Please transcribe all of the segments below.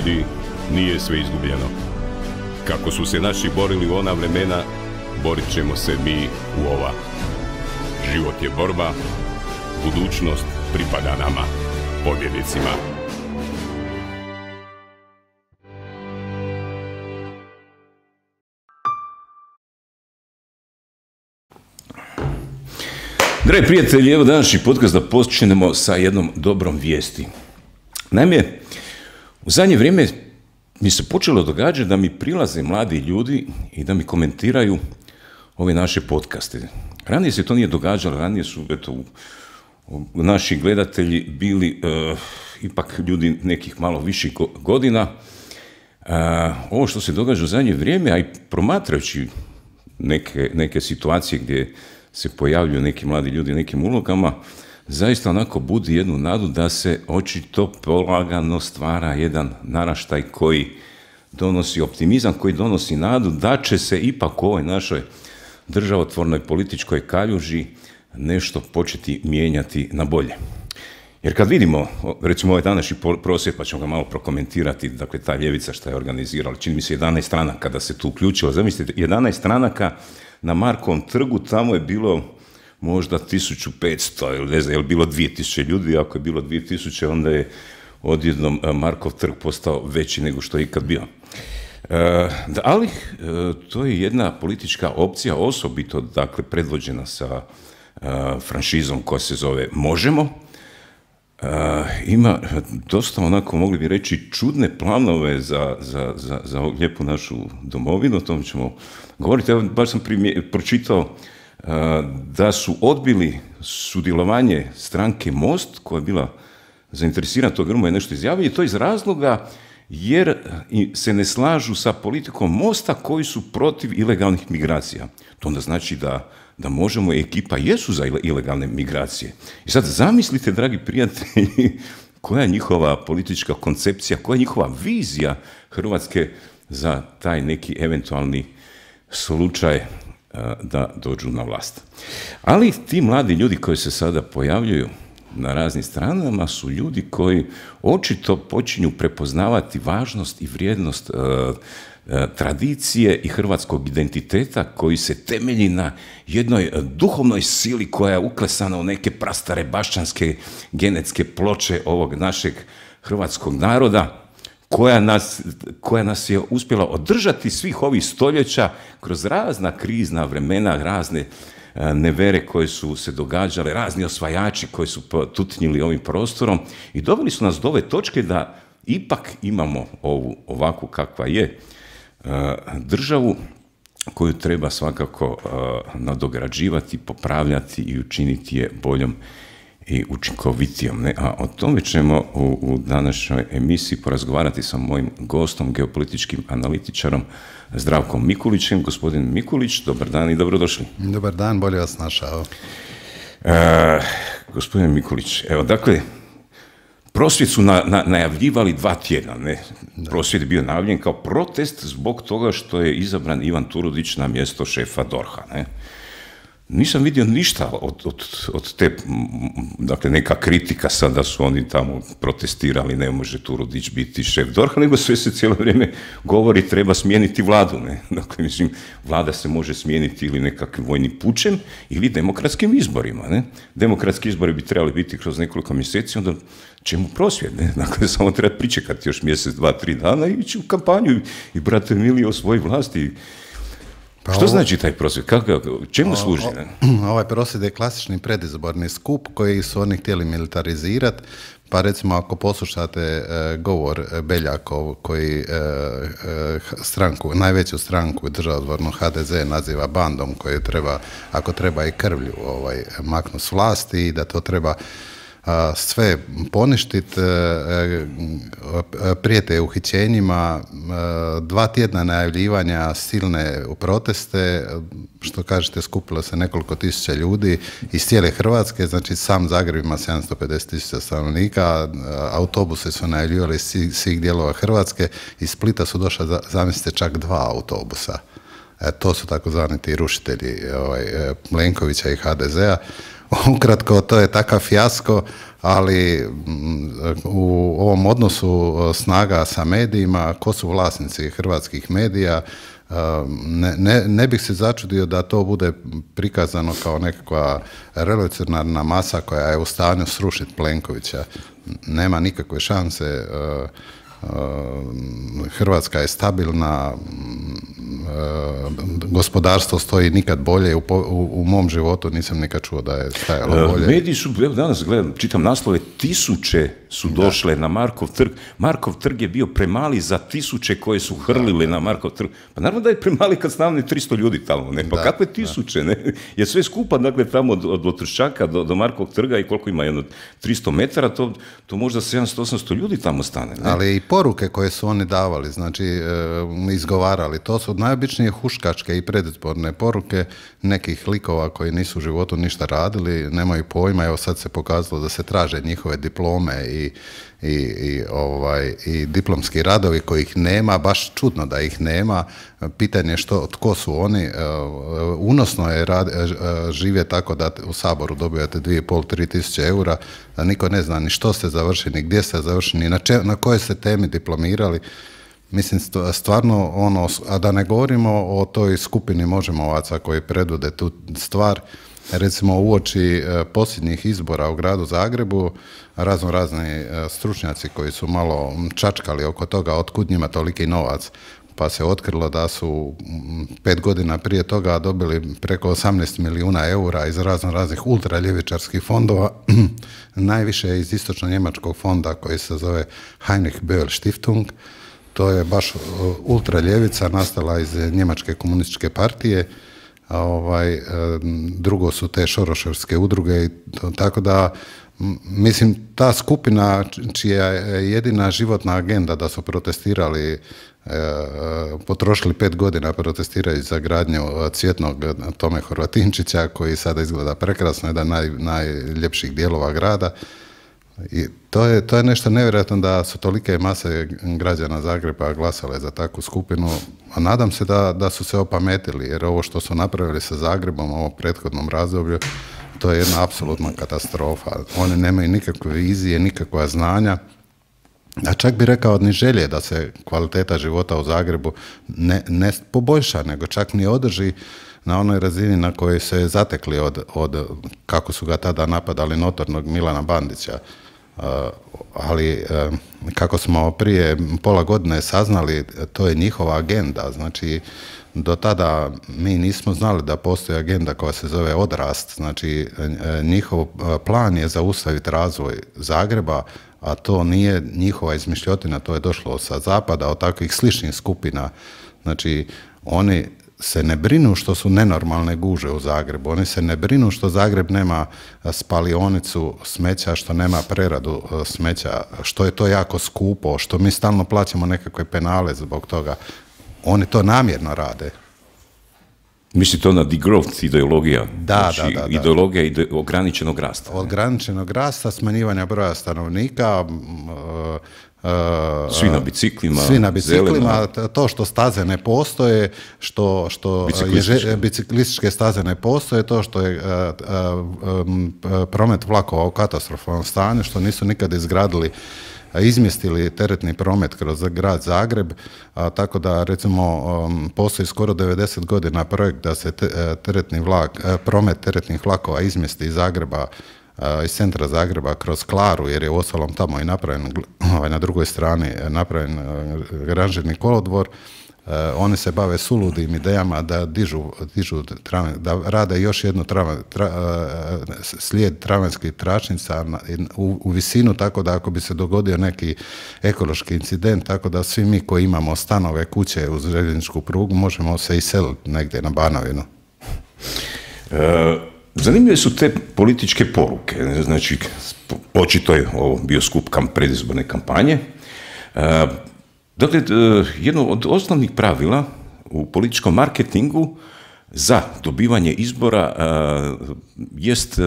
ljudi, nije sve izgubljeno. Kako su se naši borili u ona vremena, borit ćemo se mi u ova. Život je borba, budućnost pripada nama, pobjednicima. Dragi prijatelji, evo današnji podcast da počnemo sa jednom dobrom vijesti. Naime, u zadnje vrijeme mi se počelo događati da mi prilaze mladi ljudi i da mi komentiraju ove naše podcaste. Ranije se to nije događalo, ranije su naši gledatelji bili ipak ljudi nekih malo viših godina. Ovo što se događa u zadnje vrijeme, a i promatrajući neke situacije gdje se pojavljuju neki mladi ljudi u nekim ulogama, zaista onako budi jednu nadu da se očito polagano stvara jedan naraštaj koji donosi optimizam, koji donosi nadu da će se ipak u ovoj našoj državotvornoj političkoj kaljuži nešto početi mijenjati na bolje. Jer kad vidimo, recimo ovaj današnji prosvjed, pa ćemo ga malo prokomentirati, dakle ta ljevica što je organizirala, čini mi se 11 stranaka da se tu uključilo, zamislite, 11 stranaka na Markovom trgu, tamo je bilo možda 1500 ili ne znam, je li bilo 2000 ljudi, ako je bilo 2000 onda je odjednom Markov trg postao veći nego što je ikad bio. Ali to je jedna politička opcija, osobito dakle predvođena sa franšizom koja se zove Možemo. Ima dosta onako, mogli bi reći, čudne planove za ovu lijepu našu domovinu, o tom ćemo govoriti. Evo, baš sam pročitao da su odbili sudjelovanje stranke Most, koja je bila zainteresirana, to Grmoja je nešto izjavio, i to iz razloga jer se ne slažu sa politikom Mosta koji su protiv ilegalnih migracija. To onda znači da Možemo i ekipa jesu za ilegalne migracije. I sad zamislite, dragi prijatelji, koja je njihova politička koncepcija, koja je njihova vizija Hrvatske za taj neki eventualni slučaj da dođu na vlast. Ali ti mladi ljudi koji se sada pojavljuju na raznim stranama su ljudi koji očito počinju prepoznavati važnost i vrijednost tradicije i hrvatskog identiteta koji se temelji na jednoj duhovnoj sili koja je uklesana u neke prastare bašćanske genetske ploče ovog našeg hrvatskog naroda, koja nas je uspjela održati svih ovih stoljeća kroz razna krizna vremena, razne nevere koje su se događale, razni osvajači koji su potutnjili ovim prostorom i doveli su nas do ove točke da ipak imamo ovu ovakvu kakva je državu koju treba svakako nadograđivati, popravljati i učiniti je boljom i učinkovitijom. A o tome ćemo u današnjoj emisiji porazgovarati sa mojim gostom, geopolitičkim analitičarom Zdravkom Mikulićem. Gospodin Mikulić, dobar dan i dobrodošli. Dobar dan, bolje vas našao. Gospodin Mikulić, evo dakle, prosvjed su najavljivali 2 tjedna, ne? Prosvjed je bio najavljen kao protest zbog toga što je izabran Ivan Turudić na mjesto šefa DORH-a, ne? Nisam vidio ništa od te, dakle, neka kritika sad da su oni tamo protestirali, ne može Turudić biti šef DORH-a, nego sve se cijelo vrijeme govori treba smijeniti vladu, ne? Dakle, mislim, vlada se može smijeniti ili nekakvim vojnim pučem ili demokratskim izborima, ne? Demokratski izbori bi trebali biti kroz nekoliko mjeseci, onda čemu prosvjed, ne? Dakle, samo treba pričekati još mjesec, 2, 3 dana i ići u kampanju i brate mili osvoji vlasti. Što znači taj prosvjed? Čemu služi? Ovaj prosvjed je klasični predizborni skup koji su oni htjeli militarizirati. Pa recimo ako poslušate govor Beljakov koji najveću stranku državotvornu HDZ naziva bandom koju treba, ako treba i krvlju maknuti s vlasti i da to treba sve poništiti, prijete uhićenjima, 2 tjedna najavljivanja silne proteste, što kažete skupilo se nekoliko tisuća ljudi iz cijele Hrvatske, znači sam Zagreb ima 750.000 stanovnika, autobuse su najavljivali svih dijelova Hrvatske, iz Splita su došla, zamislite, čak 2 autobusa. To su takozvani ti rušitelji Plenkovića i HDZ-a. ukratko, to je takav fijasko, ali u ovom odnosu snaga sa medijima, ko su vlasnici hrvatskih medija, ne bih se začudio da to bude prikazano kao nekakva revolucionarna masa koja je u stanju srušiti Plenkovića. Nema nikakve šanse. Hrvatska je stabilna, gospodarstvo stoji nikad bolje, u mom životu nisam nikad čuo da je stajalo bolje. Mediji su, evo danas gledam, čitam naslove, tisuće su došle na Markov trg. Markov trg je bio premali za tisuće koje su hrlile na Markov trg. Pa naravno da je premali kad stavne 300 ljudi tamo, ne? Pa kakve tisuće, ne? Je sve skupa, dakle, tamo od Otrščaka do Markovog trga i koliko ima, jedno 300 metara, to možda 700-800 ljudi tamo stane, ne? Ali i poruke koje su oni davali, znači izgovarali, to su najobičnije huškačke i predizborne poruke nekih likova koji nisu u životu ništa radili, nemaju pojma, evo sad se pokazalo da se traže njihove diplome i diplomski radovi kojih nema, baš čudno da ih nema, pitanje tko su oni, unosno je živjeti tako da u Saboru dobijate 2.500-3 tisuće eura, da niko ne zna ni što ste završili, ni gdje ste završili, ni na kojoj ste temi diplomirali. Mislim, stvarno, a da ne govorimo o toj skupini Možemovaca koji predvode tu stvar, recimo uoči posljednjih izbora u gradu Zagrebu, razni stručnjaci koji su malo čačkali oko toga otkud njima toliki novac, pa se otkrilo da su 5 godina prije toga dobili preko 18 milijuna eura iz raznih ultraljevičarskih fondova, najviše iz istočno-njemačkog fonda koji se zove Heinrich Böll Stiftung. To je baš ultraljevica nastala iz Njemačke komunističke partije, drugo su te šoroševske udruge, tako da mislim ta skupina čija je jedina životna agenda da su protestirali, potrošili 5 godina protestiraju za gradnju Cvjetnog Tome Horvatinčića koji sada izgleda prekrasno, jedan najljepših dijelova grada. I to je nešto nevjerojatno da su tolike mase građana Zagreba glasale za takvu skupinu, a nadam se da su se opametili, jer ovo što su napravili sa Zagrebom u ovom prethodnom razdoblju, to je jedna apsolutna katastrofa. Oni nemaju nikakve vizije, nikakva znanja, a čak bi rekao ni želje da se kvaliteta života u Zagrebu ne poboljša, nego čak ni održi na onoj razini na kojoj se zatekli od kako su ga tada napadali notornog Milana Bandića. Ali kako smo prije pola godine saznali, to je njihova agenda. Znači, do tada mi nismo znali da postoji agenda koja se zove Odrast. Znači, njihov plan je zaustaviti razvoj Zagreba, a to nije njihova izmišljotina, to je došlo sa zapada, od takvih sličnih skupina. Znači, oni se ne brinu što su nenormalne guže u Zagrebu, oni se ne brinu što Zagreb nema spalionicu smeća, što nema preradu smeća, što je to jako skupo, što mi stalno plaćamo nekakve penale zbog toga. Oni to namjerno rade. Misli to na degrowth ideologija? Da. Ideologija ograničenog rasta. Ograničenog rasta, smanjivanja broja stanovnika, svi na biciklima, to što staze ne postoje, što biciklističke staze ne postoje, to što je promet vlakova u katastrofalnom stanju, što nisu nikad izgradili, izmjestili teretni promet kroz grad Zagreb, tako da recimo postoji skoro 90 godina projekt da se promet teretnih vlakova izmjesti iz Zagreba, iz centra Zagreba kroz Klaru, jer je uostalom tamo i napravljen, na drugoj strani napravljen ranžirni kolodvor. Oni se bave suludim idejama da dižu da rade još jednu slijed tramvajskih tračnica u visinu, tako da ako bi se dogodio neki ekološki incident, tako da svi mi koji imamo stanove, kuće uz željezničku prugu možemo se iseliti negdje na Banovinu. Zanimljive su te političke poruke. Znači, očito je ovo bio skup predizborne kampanje. Dakle, jedno od osnovnih pravila u političkom marketingu za dobivanje izbora jest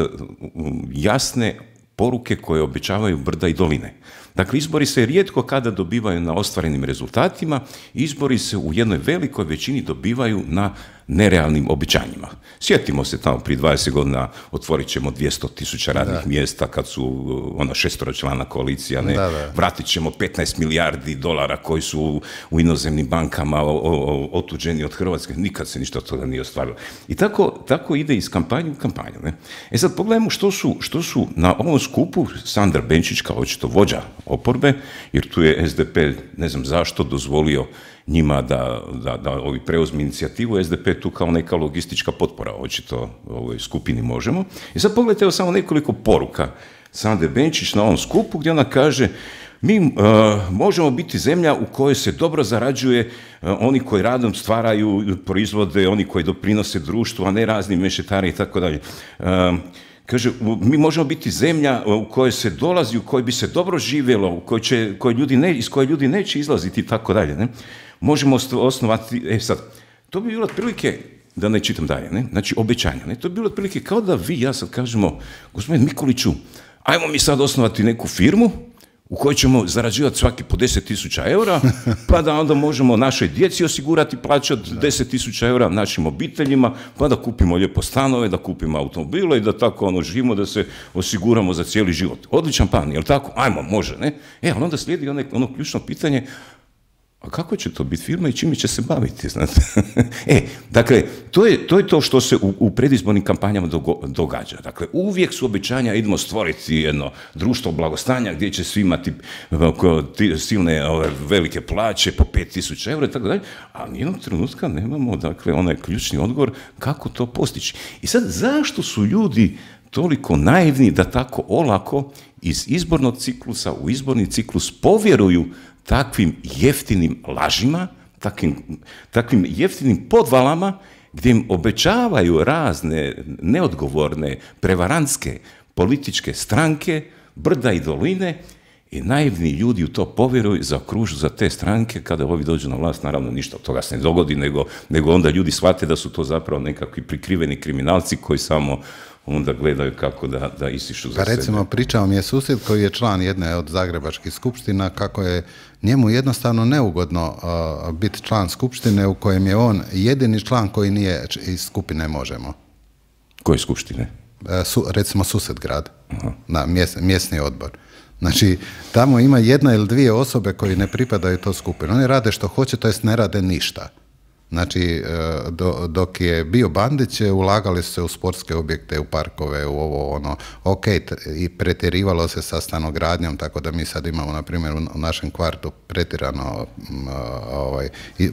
jasne poruke koje obećavaju brda i doline. Dakle, izbori se rijetko kada dobivaju na ostvarenim rezultatima, izbori se u jednoj velikoj većini dobivaju na nerealnim obećanjima. Sjetimo se tamo prije 20 godina otvorit ćemo 200.000 radnih mjesta kad su ona 6-člana koalicija, ne, vratit ćemo 15 milijardi dolara koji su u inozemnim bankama otuđeni od Hrvatske, nikad se ništa od toga nije ostvarilo. I tako ide iz kampanje u kampanju. Ne? E sad pogledajmo što su na ovom skupu Sandra Benčić kao očito vođa oporbe, jer tu je SDP, ne znam zašto, dozvolio njima da ovi preuzmi inicijativu, SDP tu kao neka logistička potpora, očito ovoj skupini Možemo. I sad pogledajte evo samo nekoliko poruka Sandre Benčić na ovom skupu gdje ona kaže mi možemo biti zemlja u kojoj se dobro zarađuje, oni koji radom stvaraju proizvode, oni koji doprinose društvu, a ne razni mešetari i tako dalje. Kaže, mi možemo biti zemlja u kojoj se dolazi, u kojoj bi se dobro živjelo, iz koje ljudi neće izlaziti i tako dalje. Ne? Možemo osnovati, sad, to bi bilo otprilike, da ne čitam dalje, ne? Znači obećanja. Ne? To bi bilo otprilike kao da vi, ja sad kažemo, gospodin Mikuliću, ajmo mi sad osnovati neku firmu u kojoj ćemo zarađivati svaki po 10.000 eura, pa da onda možemo našoj djeci osigurati plaće od 10.000 eura, našim obiteljima, pa da kupimo lijepo stanove, da kupimo automobile i da tako živimo, da se osiguramo za cijeli život. Odličan plan, jel tako? Ajmo, može, ne? Ali onda slijedi ono ključno pitanje, a kako će to biti firma i čime će se baviti, znate? Dakle, to je to što se u predizbornim kampanjama događa. Dakle, uvijek su obećanja, idemo stvoriti jedno društvo blagostanja gdje će svi imati silne velike plaće po 5.000 eura i tako dalje, a nijednog trenutka nemamo, dakle, onaj ključni odgovor kako to postići. I sad, zašto su ljudi toliko naivni da tako olako iz izbornog ciklusa u izborni ciklus povjeruju takvim jeftinim lažima, takvim jeftinim podvalama gdje im obećavaju razne neodgovorne, prevarantske političke stranke, brda i doline i naivni ljudi u to povjeruju, zaokružu za te stranke, kada ovi dođu na vlast, naravno ništa od toga se ne dogodi, nego onda ljudi shvate da su to zapravo nekakvi prikriveni kriminalci koji samo onda gledaju kako da isišu za sebe. Recimo, pričao mi je susjed koji je član jedne od zagrebačkih skupština, kako je njemu jednostavno neugodno biti član skupštine u kojem je on jedini član koji nije iz skupine Možemo. Koje skupštine? Recimo Susetgrad, na mjesni odbor. Znači, tamo ima jedna ili dvije osobe koji ne pripadaju toj skupini. Oni rade što hoće, to jest ne rade ništa. Znači, dok je bio Bandić, ulagali su se u sportske objekte, u parkove, u ovo, ono, i pretjerivalo se sa stanogradnjom, tako da mi sad imamo, na primjer, u našem kvartu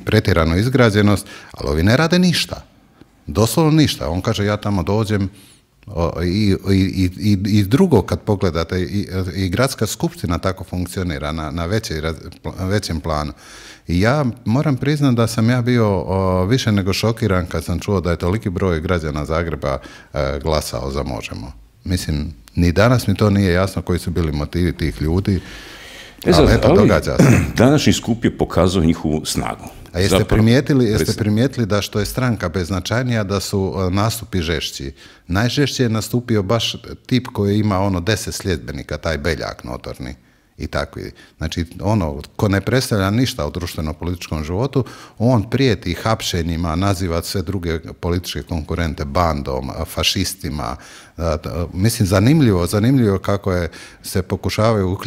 pretjeranu izgrađenost, ali ovi ne rade ništa. Doslovno ništa. On kaže, ja tamo dođem, i drugo kad pogledate, i gradska skupština tako funkcionira na većem planu. I ja moram priznati da sam ja bio više nego šokiran kad sam čuo da je toliki broj građana Zagreba glasao za Možemo. Mislim, ni danas mi to nije jasno koji su bili motivi tih ljudi, ali eto, događa se. Današnji skup je pokazao njihovu snagu. A jeste primijetili da što je stranka beznačajnija, da su nastupi žešći? Najžešće je nastupio baš tip koji ima 10 sljedbenika, taj Beljak notorni. I takvi. Znači, ko ne predstavlja ništa u društveno-političkom životu, on prijeti hapšenjima, naziva sve druge političke konkurente bandom, fašistima. Mislim, zanimljivo kako se pokušavaju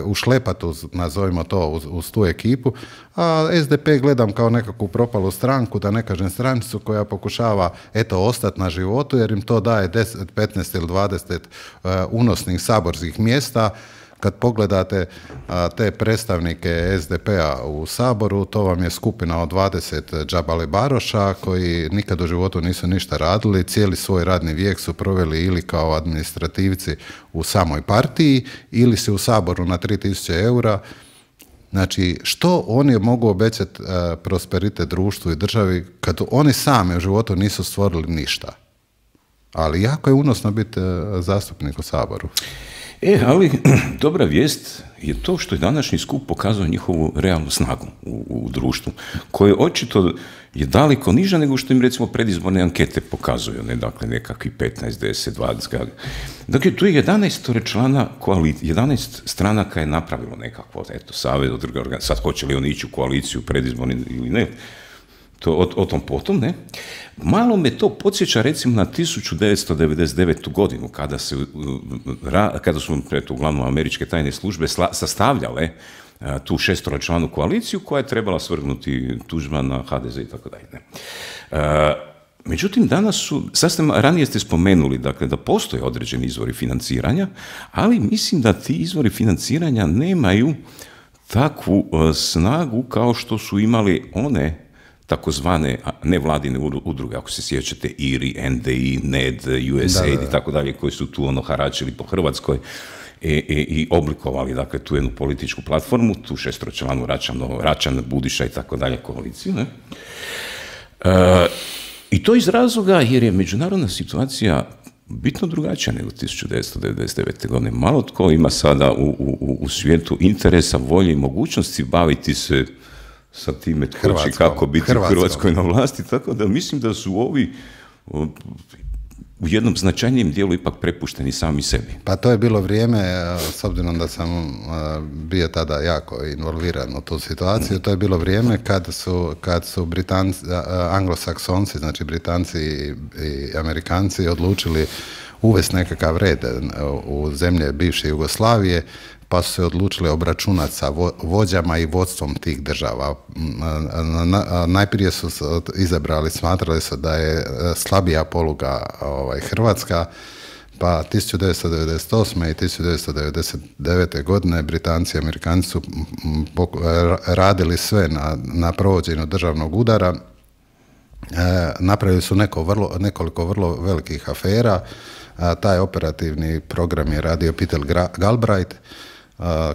ušlepati, nazovimo to, uz tu ekipu, a SDP gledam kao nekakvu propalu stranku, da ne kažem stranicu koja pokušava, ostati na životu, jer im to daje 10, 15 ili 20 unosnih saborskih mjesta. Kad pogledate te predstavnike SDP-a u Saboru, to vam je skupina od 20 džabalebaroša koji nikad u životu nisu ništa radili, cijeli svoj radni vijek su proveli ili kao administrativci u samoj partiji ili se u Saboru na 3.000 eura. Znači, što oni mogu obećati prosperitet društvu i državi kad oni sami u životu nisu stvorili ništa? Ali jako je unosno biti zastupnik u Saboru. Ali dobra vijest je to što je današnji skup pokazao njihovu realnu snagu u društvu, koje očito je daleko niža nego što im recimo predizborne ankete pokazuju, ne, dakle nekakvi 15, 10, 20. Dakle, tu je 11 člana koalicije, 11 stranaka je napravilo nekakvo, savez od druge organizacije, sad hoće li oni ići u koaliciju predizborni ili ne, o tom potom, ne? Malo me to podsjeća recimo na 1999. godinu, kada su uglavnom američke tajne službe sastavljale tu šestoročlanu koaliciju koja je trebala svrgnuti Tuđmana, HDZ i tako dalje. Međutim, danas su, ranije ste spomenuli, dakle, da postoje određeni izvori financiranja, ali mislim da ti izvori financiranja nemaju takvu snagu kao što su imali one takozvane nevladine udruge, ako se sjećate, IRI, NDI, NED, USAID i tako dalje, koji su tu haračili po Hrvatskoj i oblikovali, dakle, tu jednu političku platformu, tu šestročlanu Račan, Budiša i tako dalje koaliciju, ne? I to iz razloga jer je međunarodna situacija bitno drugačija nego 1999. godine. Malo tko ima sada u svijetu interesa, volje i mogućnosti baviti se sa time tko će kako biti u Hrvatskoj na vlasti, tako da mislim da su ovi u jednom značajnijem dijelu ipak prepušteni sami sebi. Pa to je bilo vrijeme, s obzirom da sam bio tada jako involviran u tu situaciju, to je bilo vrijeme kad su Britanci, anglosaksonci, znači Britanci i Amerikanci odlučili uvesti nekakav red u zemlje bivše Jugoslavije, pa su se odlučili obračunati sa vođama i vodstvom tih država. Najprije su izabrali, smatrali su da je slabija poluga Hrvatska, pa 1998. i 1999. godine Britanci i Amerikanci su radili sve na provođenju državnog udara. Napravili su nekoliko vrlo velikih afera. Taj operativni program je radio Peter Galbraith,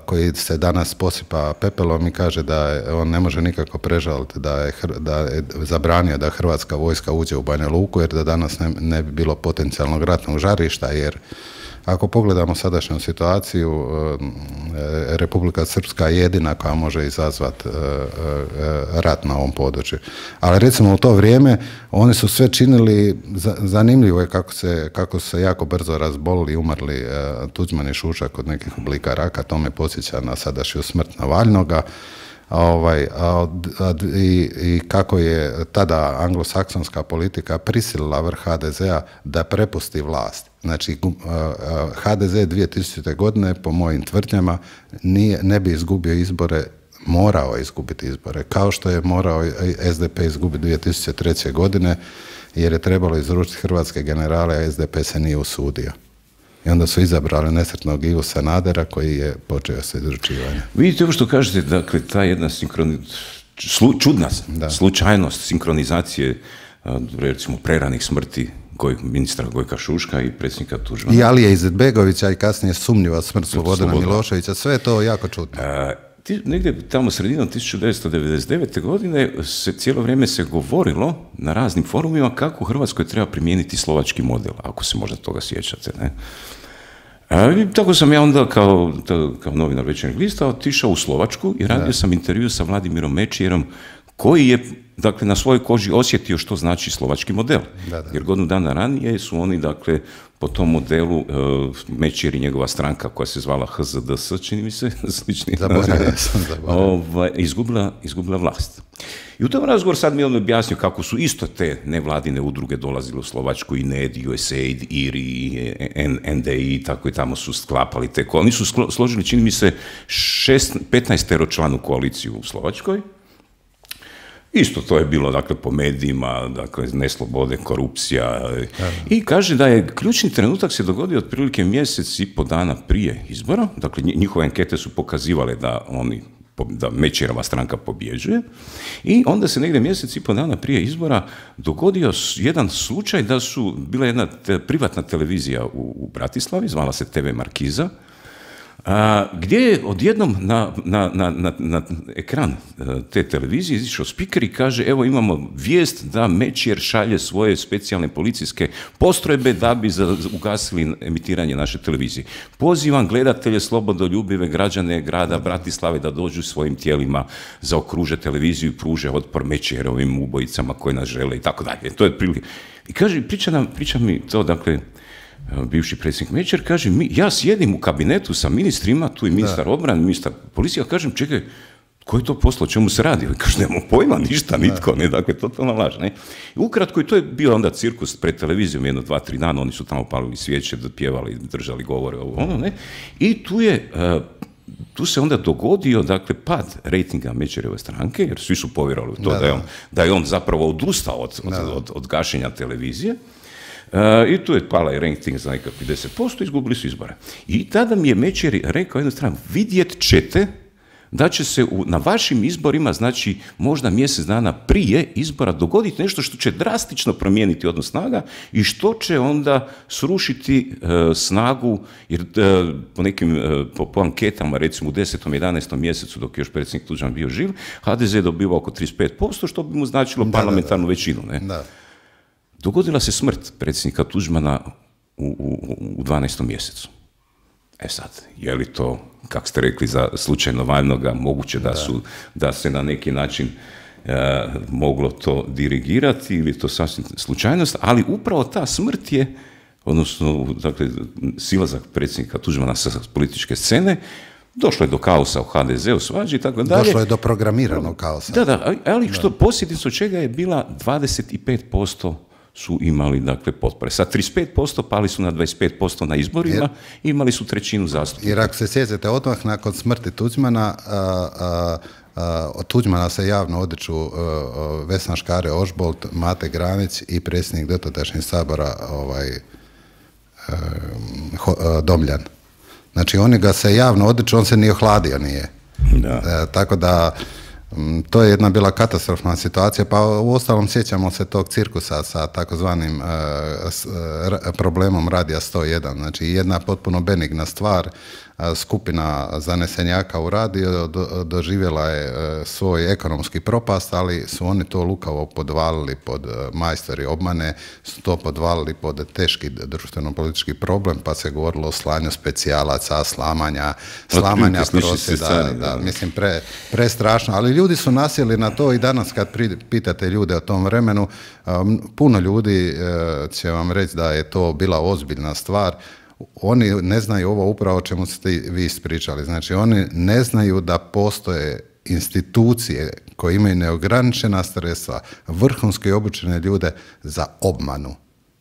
koji se danas posipa pepelom i kaže da on ne može nikako prežaliti da je zabranio da hrvatska vojska uđe u Banja Luku, jer da danas ne bi bilo potencijalnog ratnog žarišta, jer ako pogledamo sadašnju situaciju, Republika Srpska je jedina koja može izazvati rat na ovom području. Ali recimo u to vrijeme oni su sve činili, zanimljivo je kako se jako brzo razbolili i umrli Tuđman i Šušak od nekih oblika raka, to me podsjeća na sadašnju smrt Navalnoga. I kako je tada anglosaksonska politika prisilila vrh HDZ-a da prepusti vlast. Znači, HDZ 2000. godine, po mojim tvrdnjama, ne bi izgubio izbore, morao je izgubiti izbore, kao što je morao SDP izgubiti 2003. godine, jer je trebalo izručiti hrvatske generale, a SDP se nije usudio. I onda su izabrali nesretnog Ivu Sanadera koji je počeo sa izručivanjem. Vidite ovo što kažete, dakle, ta jedna čudna slučajnost sinkronizacije, recimo, preranih smrti ministra Gojka Šuška i predsjednika Tuđmana. I Alije Izetbegovića i kasnije sumnjiva smrt Slobodana Miloševića, sve je to jako čudno. Negdje tamo sredinom 1999. godine cijelo vrijeme se govorilo na raznim forumima kako u Hrvatskoj treba primijeniti slovački model, ako se možda toga sjećate, ne? Tako sam ja onda kao novinar Večernjeg lista otišao u Slovačku i radio sam intervju sa Vladimirom Mečijerom, koji je, dakle, na svojoj koži osjetio što znači slovački model. Jer godinu dana ranije su oni, dakle, po tom modelu Mečijer i njegova stranka koja se zvala HZDS, čini mi se, slični, izgubila vlast. I u tom razgovoru sad mi on objasnio kako su isto te nevladine udruge dolazile u Slovačku, i NED, USAID, IRI, NDI, tako i tamo su sklapali te oni su složili, čini mi se, 15-teročlanu koaliciju u Slovačkoj. Isto to je bilo, dakle, po medijima, dakle, neslobode, korupcija. I kaže da je ključni trenutak se dogodio otprilike mjesec i po dana prije izbora. Dakle, njihove ankete su pokazivale da Mečijerova stranka pobjeđuje. I onda se negdje mjesec i po dana prije izbora dogodio jedan slučaj da su bila jedna privatna televizija u Bratislavi, zvala se TV Markiza, gdje je odjednom na ekran te televizije izišao spiker i kaže, evo imamo vijest da Mečijer šalje svoje specijalne policijske postrojbe da bi ugasili emitiranje naše televizije. Pozivam gledatelje, slobodoljubive građane grada Bratislave da dođu svojim tijelima, zaokruže televiziju i pruže otpor Mečijerovim ubojicama koji nas žele i tako dalje. To je prilike. I kaže, priča mi to, dakle, bivši predsjednik Mečijer, kaže, ja sjedim u kabinetu sa ministrima, tu je ministar obrane, ministar policije, kažem, čekaj, Ko je to poslao, o čemu se radi? Kaže, nemamo pojma, ništa, nitko, ne, dakle, totalna laž, ne. I ukratko, i to je bio onda cirkus pred televizijom, 1, 2, 3 dana, oni su tamo palili svijeće, pjevali, držali govore, ono, ne. I tu se onda dogodio, dakle, pad rejtinga Međerjeve stranke, jer svi su povjerovali u to da je on zapravo odustao od gašenja televizije. I tu je pala i rejting za nekakvih 10%, izgubili su izbore. I tada mi je Međeri rekao jednu stranu, vidjet ćete da će se na vašim izborima, znači možda mjesec dana prije izbora, dogoditi nešto što će drastično promijeniti odnos snaga i što će onda srušiti snagu, jer po nekim po anketama, recimo u 10. 11. mjesecu, dok je još predsjednik Tuđman bio živ, HDZ je dobivao oko 35%, što bi mu značilo parlamentarnu većinu. Ne? Da. Dogodila se smrt predsjednika Tuđmana u 12. mjesecu. E sad, je li to, kako ste rekli, za slučajno valjnoga, moguće da se na neki način moglo to dirigirati ili to sasvim slučajnost, ali upravo ta smrt je, odnosno, dakle, silazak predsjednika Tuđmana sa političke scene, došlo je do kaosa u HDZ-u, svađi i tako dalje. Došlo je do programiranog kaosa. Da, ali što posljedica od čega je bila 25% su imali, dakle, potpore. Sa 35% pali su na 25% na izborima i imali su 1/3 zastupnika. Jer ako se sjećate, odmah nakon smrti Tuđmana, od Tuđmana se javno odriču Vesna Škare-Ožbolt, Mate Granić i predsjednik dotadašnjeg Sabora Domljan. Znači, oni ga se javno odriču, on se ni ohladio nije. Tako da to je jedna bila katastrofna situacija, pa u ostalom sjećamo se tog cirkusa sa takozvanim problemom Radija 101. Znači, jedna potpuno benigna stvar, skupina zanesenjaka u radio doživjela je svoj ekonomski propast, ali su oni to lukavo podvalili pod majstori obmane, su to podvalili pod teški društveno-politički problem, pa se govorilo o slanju specijalaca, slamanja prosvjeda, mislim, prestrašno, ali ljudi su nasjeli na to i danas kad pitate ljude o tom vremenu, puno ljudi će vam reći da je to bila ozbiljna stvar. Oni ne znaju ovo upravo o čemu ste vi ispričali. Znači, oni ne znaju da postoje institucije koje imaju neograničena sredstva, vrhunski obučene ljude za obmanu.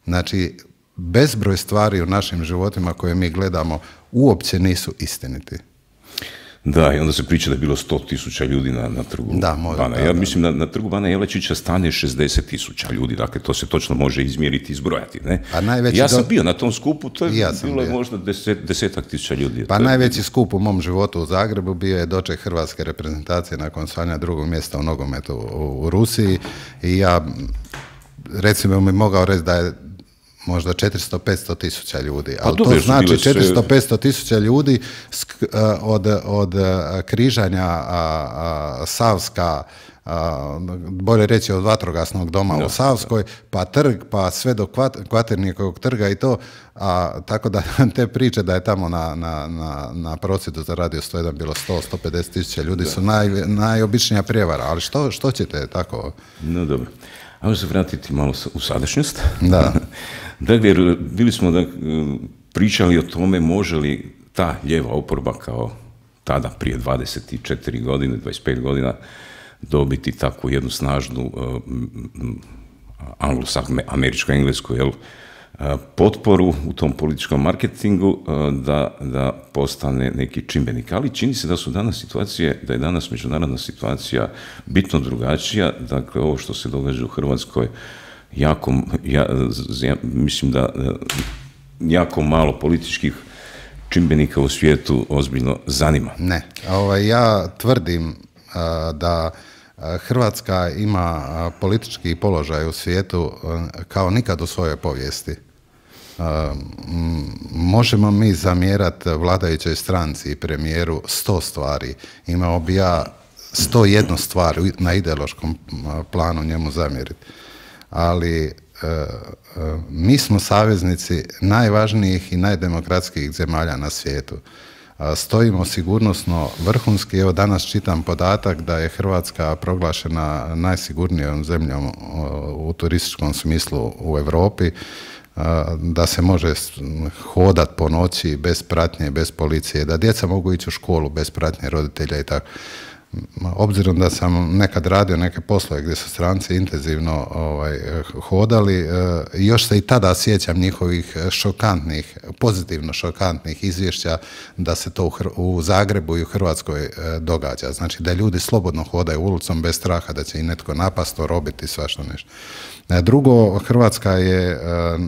Znači, bezbroj stvari u našim životima koje mi gledamo uopće nisu istiniti. Da, i onda se priča da je bilo 100.000 ljudi na trgu Bana. Ja mislim na trgu Bana Jelačića stane 60.000 ljudi, dakle to se točno može izmjeriti i izbrojati. Ne? Ja sam bio na tom skupu, to je bilo možda 10.000 ljudi. Pa najveći skup u mom životu u Zagrebu bio je doček hrvatske reprezentacije nakon osvajanja 2. mjesta u nogometu u Rusiji i ja, recimo, mi mogao reći da je možda 400-500 tisuća ljudi, ali to znači 400-500 tisuća ljudi od križanja Savska, bolje reći od vatrogasnog doma u Savskoj, pa trg, pa sve do Kvaternikovog trga i to, tako da te priče da je tamo na prosvjedu za Radio 101 bilo 100-150 tisuća ljudi su najobičnija prijevara, ali što ćete tako? No dobro. Ajmo se vratiti malo u sadašnjost. Da. Dakle, bili smo pričali o tome može li ta lijeva oporba kao tada prije 24 godine, 25 godina dobiti takvu jednu snažnu američko-englesku potporu u tom političkom marketingu da postane neki čimbenik. Ali čini se da su danas situacije, da je danas međunarodna situacija bitno drugačija. Dakle, ovo što se događa u Hrvatskoj mislim da jako malo političkih čimbenika u svijetu ozbiljno zanima. Ne, ja tvrdim da Hrvatska ima politički položaj u svijetu kao nikad u svojoj povijesti. Možemo mi zamjerati vladajućoj stranci i premijeru 100 stvari. Imao bi ja 101 stvar na ideološkom planu njemu zamjeriti. Ali mi smo saveznici najvažnijih i najdemokratskijih zemalja na svijetu. Stojimo sigurnosno vrhunski. Evo danas čitam podatak da je Hrvatska proglašena najsigurnijom zemljom u turističkom smislu u Europi, da se može hodat po noći bez pratnje, bez policije, da djeca mogu ići u školu bez pratnje roditelja i tako. obzirom da sam nekad radio neke poslove gdje su stranci intenzivno hodali, još se i tada sjećam njihovih šokantnih, pozitivno šokantnih izvješća da se to u Zagrebu i u Hrvatskoj događa. Znači da ljudi slobodno hodaju ulicom bez straha da će i netko napast, orobiti, svašta nešto. Drugo, Hrvatska je,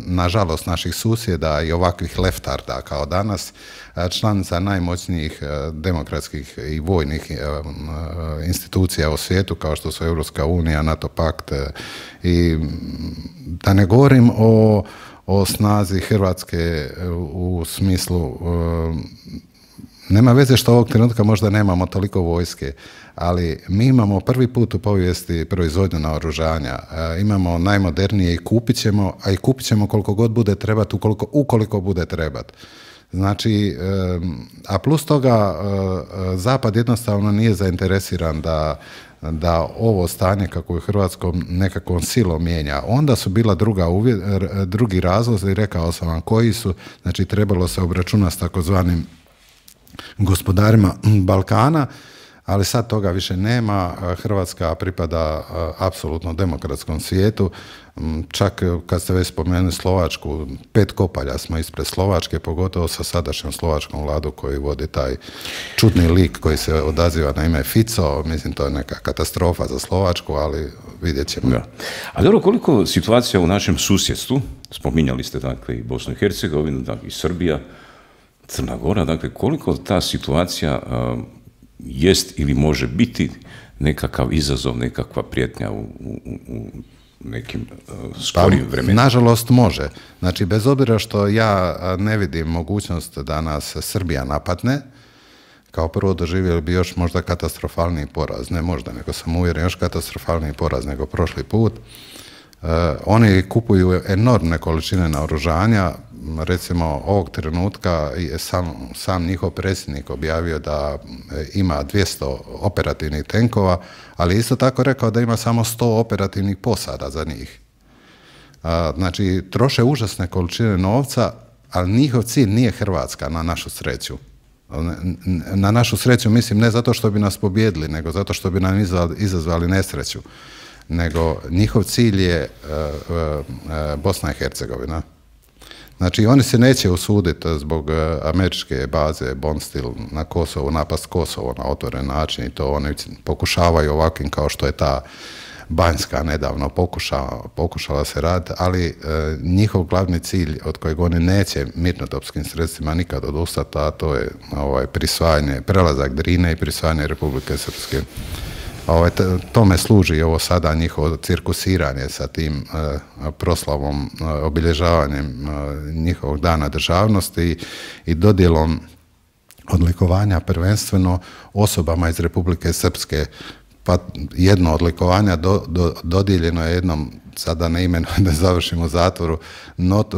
nažalost, naših susjeda i ovakvih leftarda kao danas, članica najmoćnijih demokratskih i vojnih institucija u svijetu, kao što su Europska unija, NATO pakt, i da ne govorim o snazi Hrvatske u smislu, nema veze što ovog trenutka možda nemamo toliko vojske, ali mi imamo prvi put u povijesti proizvodnju naoružanja, imamo najmodernije i kupit ćemo koliko god bude trebati, ukoliko bude trebati. Znači, a plus toga, Zapad jednostavno nije zainteresiran da ovo stanje kako je u Hrvatskom nekakvom silom mijenja. Onda su bila drugi razlozi, rekao sam vam koji su, znači trebalo se obračunati s takozvanim gospodarima Balkana, ali sad toga više nema. Hrvatska pripada apsolutno demokratskom svijetu. Čak kad ste već spomenuli Slovačku, 5 kopalja smo ispred Slovačke, pogotovo sa sadašnjom slovačkom vladom koji vodi taj čudni lik koji se odaziva na ime Fico. Mislim, to je neka katastrofa za Slovačku, ali vidjet ćemo. Da. A dobro, koliko situacija u našem susjedstvu, spominjali ste dakle i Bosnu i Hercegovinu, dakle i Srbija, Crna Gora, dakle koliko ta situacija jest ili može biti nekakav izazov, nekakva prijetnja u nekim skorijim vremenima? Nažalost može. Znači, bez obzira što ja ne vidim mogućnost da nas Srbija napadne, kao prvo doživjeli bi još možda katastrofalniji poraz, ne možda, nego sam uvjeren još katastrofalniji poraz nego prošli put. Oni kupuju enormne količine naoružanja, recimo ovog trenutka je sam njihov predsjednik objavio da ima 200 operativnih tenkova, ali isto tako rekao da ima samo 100 operativnih posada za njih. Znači, troše užasne količine novca, ali njihov cilj nije Hrvatska, na našu sreću. Na našu sreću mislim ne zato što bi nas pobijedili, nego zato što bi nam izazvali nesreću. Nego njihov cilj je Bosna i Hercegovina. Znači, oni se neće usuditi zbog američke baze Bonstil na Kosovu, napast Kosovo na otvoren način i to oni pokušavaju ovakvim kao što je ta Banjska nedavno pokušala se raditi, ali njihov glavni cilj od kojeg oni neće mirnodopskim sredstvima nikad odustati, a to je prisvajanje, prelazak Drine i prisvajanje Republike Srpske. Tome služi ovo sada njihovo cirkusiranje sa tim proslavom, obilježavanjem njihovog dana državnosti i dodjelom odlikovanja prvenstveno osobama iz Republike Srpske. Pa jedno odlikovanja dodijeljeno je jednom, sada ne imenujem da završim u zatvoru,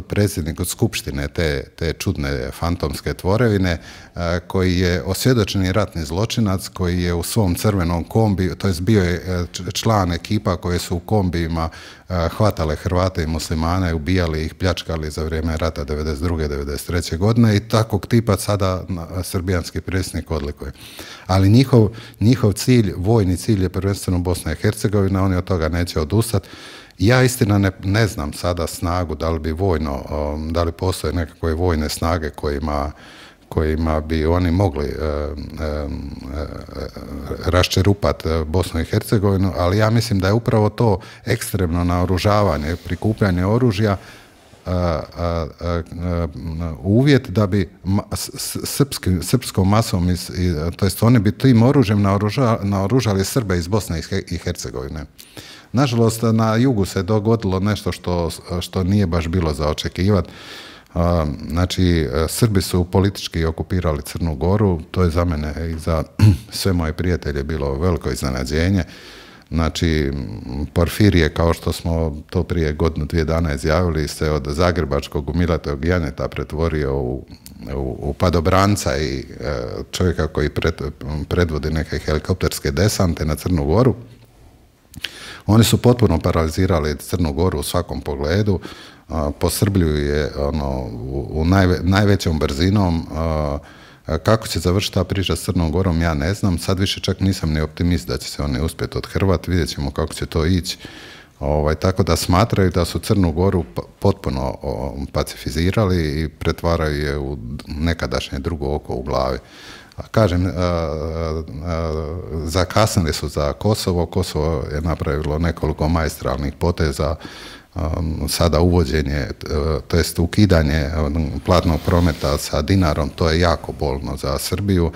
predsjedniku Skupštine te čudne fantomske tvorevine, koji je osvjedočeni ratni zločinac, koji je u svom crvenom kombiju, to jest bio je član ekipa koje su u kombijima hvatale Hrvate i muslimane, ubijali ih, pljačkali za vrijeme rata 92. 93. godine i takvog tipa sada srbijanski predsjednik odlikuje. Ali njihov cilj, vojni cilj je prvenstveno Bosna i Hercegovina, oni od toga neće odustati. Ja istina ne znam sada snagu da li bi da li postoje nekakve vojne snage kojima bi oni mogli raščerupati Bosnu i Hercegovinu, ali ja mislim da je upravo to ekstremno naoružavanje, prikupljanje oružja uvjet da bi srpskom masom, to jest oni bi tim oružjem naoružali Srbe iz Bosne i Hercegovine. Nažalost, na jugu se dogodilo nešto što nije baš bilo za očekivati. Znači, Srbi su politički okupirali Crnu Goru, to je za mene i za sve moje prijatelje bilo veliko iznenađenje. Znači, Porfirije, kao što smo to prije godinu, 2 dana izjavili, se od zagrebačkog umilatog janeta pretvorio u padobranca i čovjeka koji predvodi neke helikopterske desante na Crnu Goru. Oni su potpuno paralizirali Crnu Goru u svakom pogledu, posrbljuju je najvećom brzinom, Kako će završiti ta priča s Crnom Gorom, ja ne znam. Sad više čak nisam ni optimist da će se oni uspjeti odhrvati. Vidjet ćemo kako će to ići. Tako da smatraju da su Crnu Goru potpuno pacifizirali i pretvaraju je u nekadašnje drugo oko u glavi. Kažem, zakasnili su za Kosovo. Kosovo je napravilo nekoliko maestralnih poteza. Sada uvođenje, to jest ukidanje platnog prometa sa dinarom, to je jako bolno za Srbiju.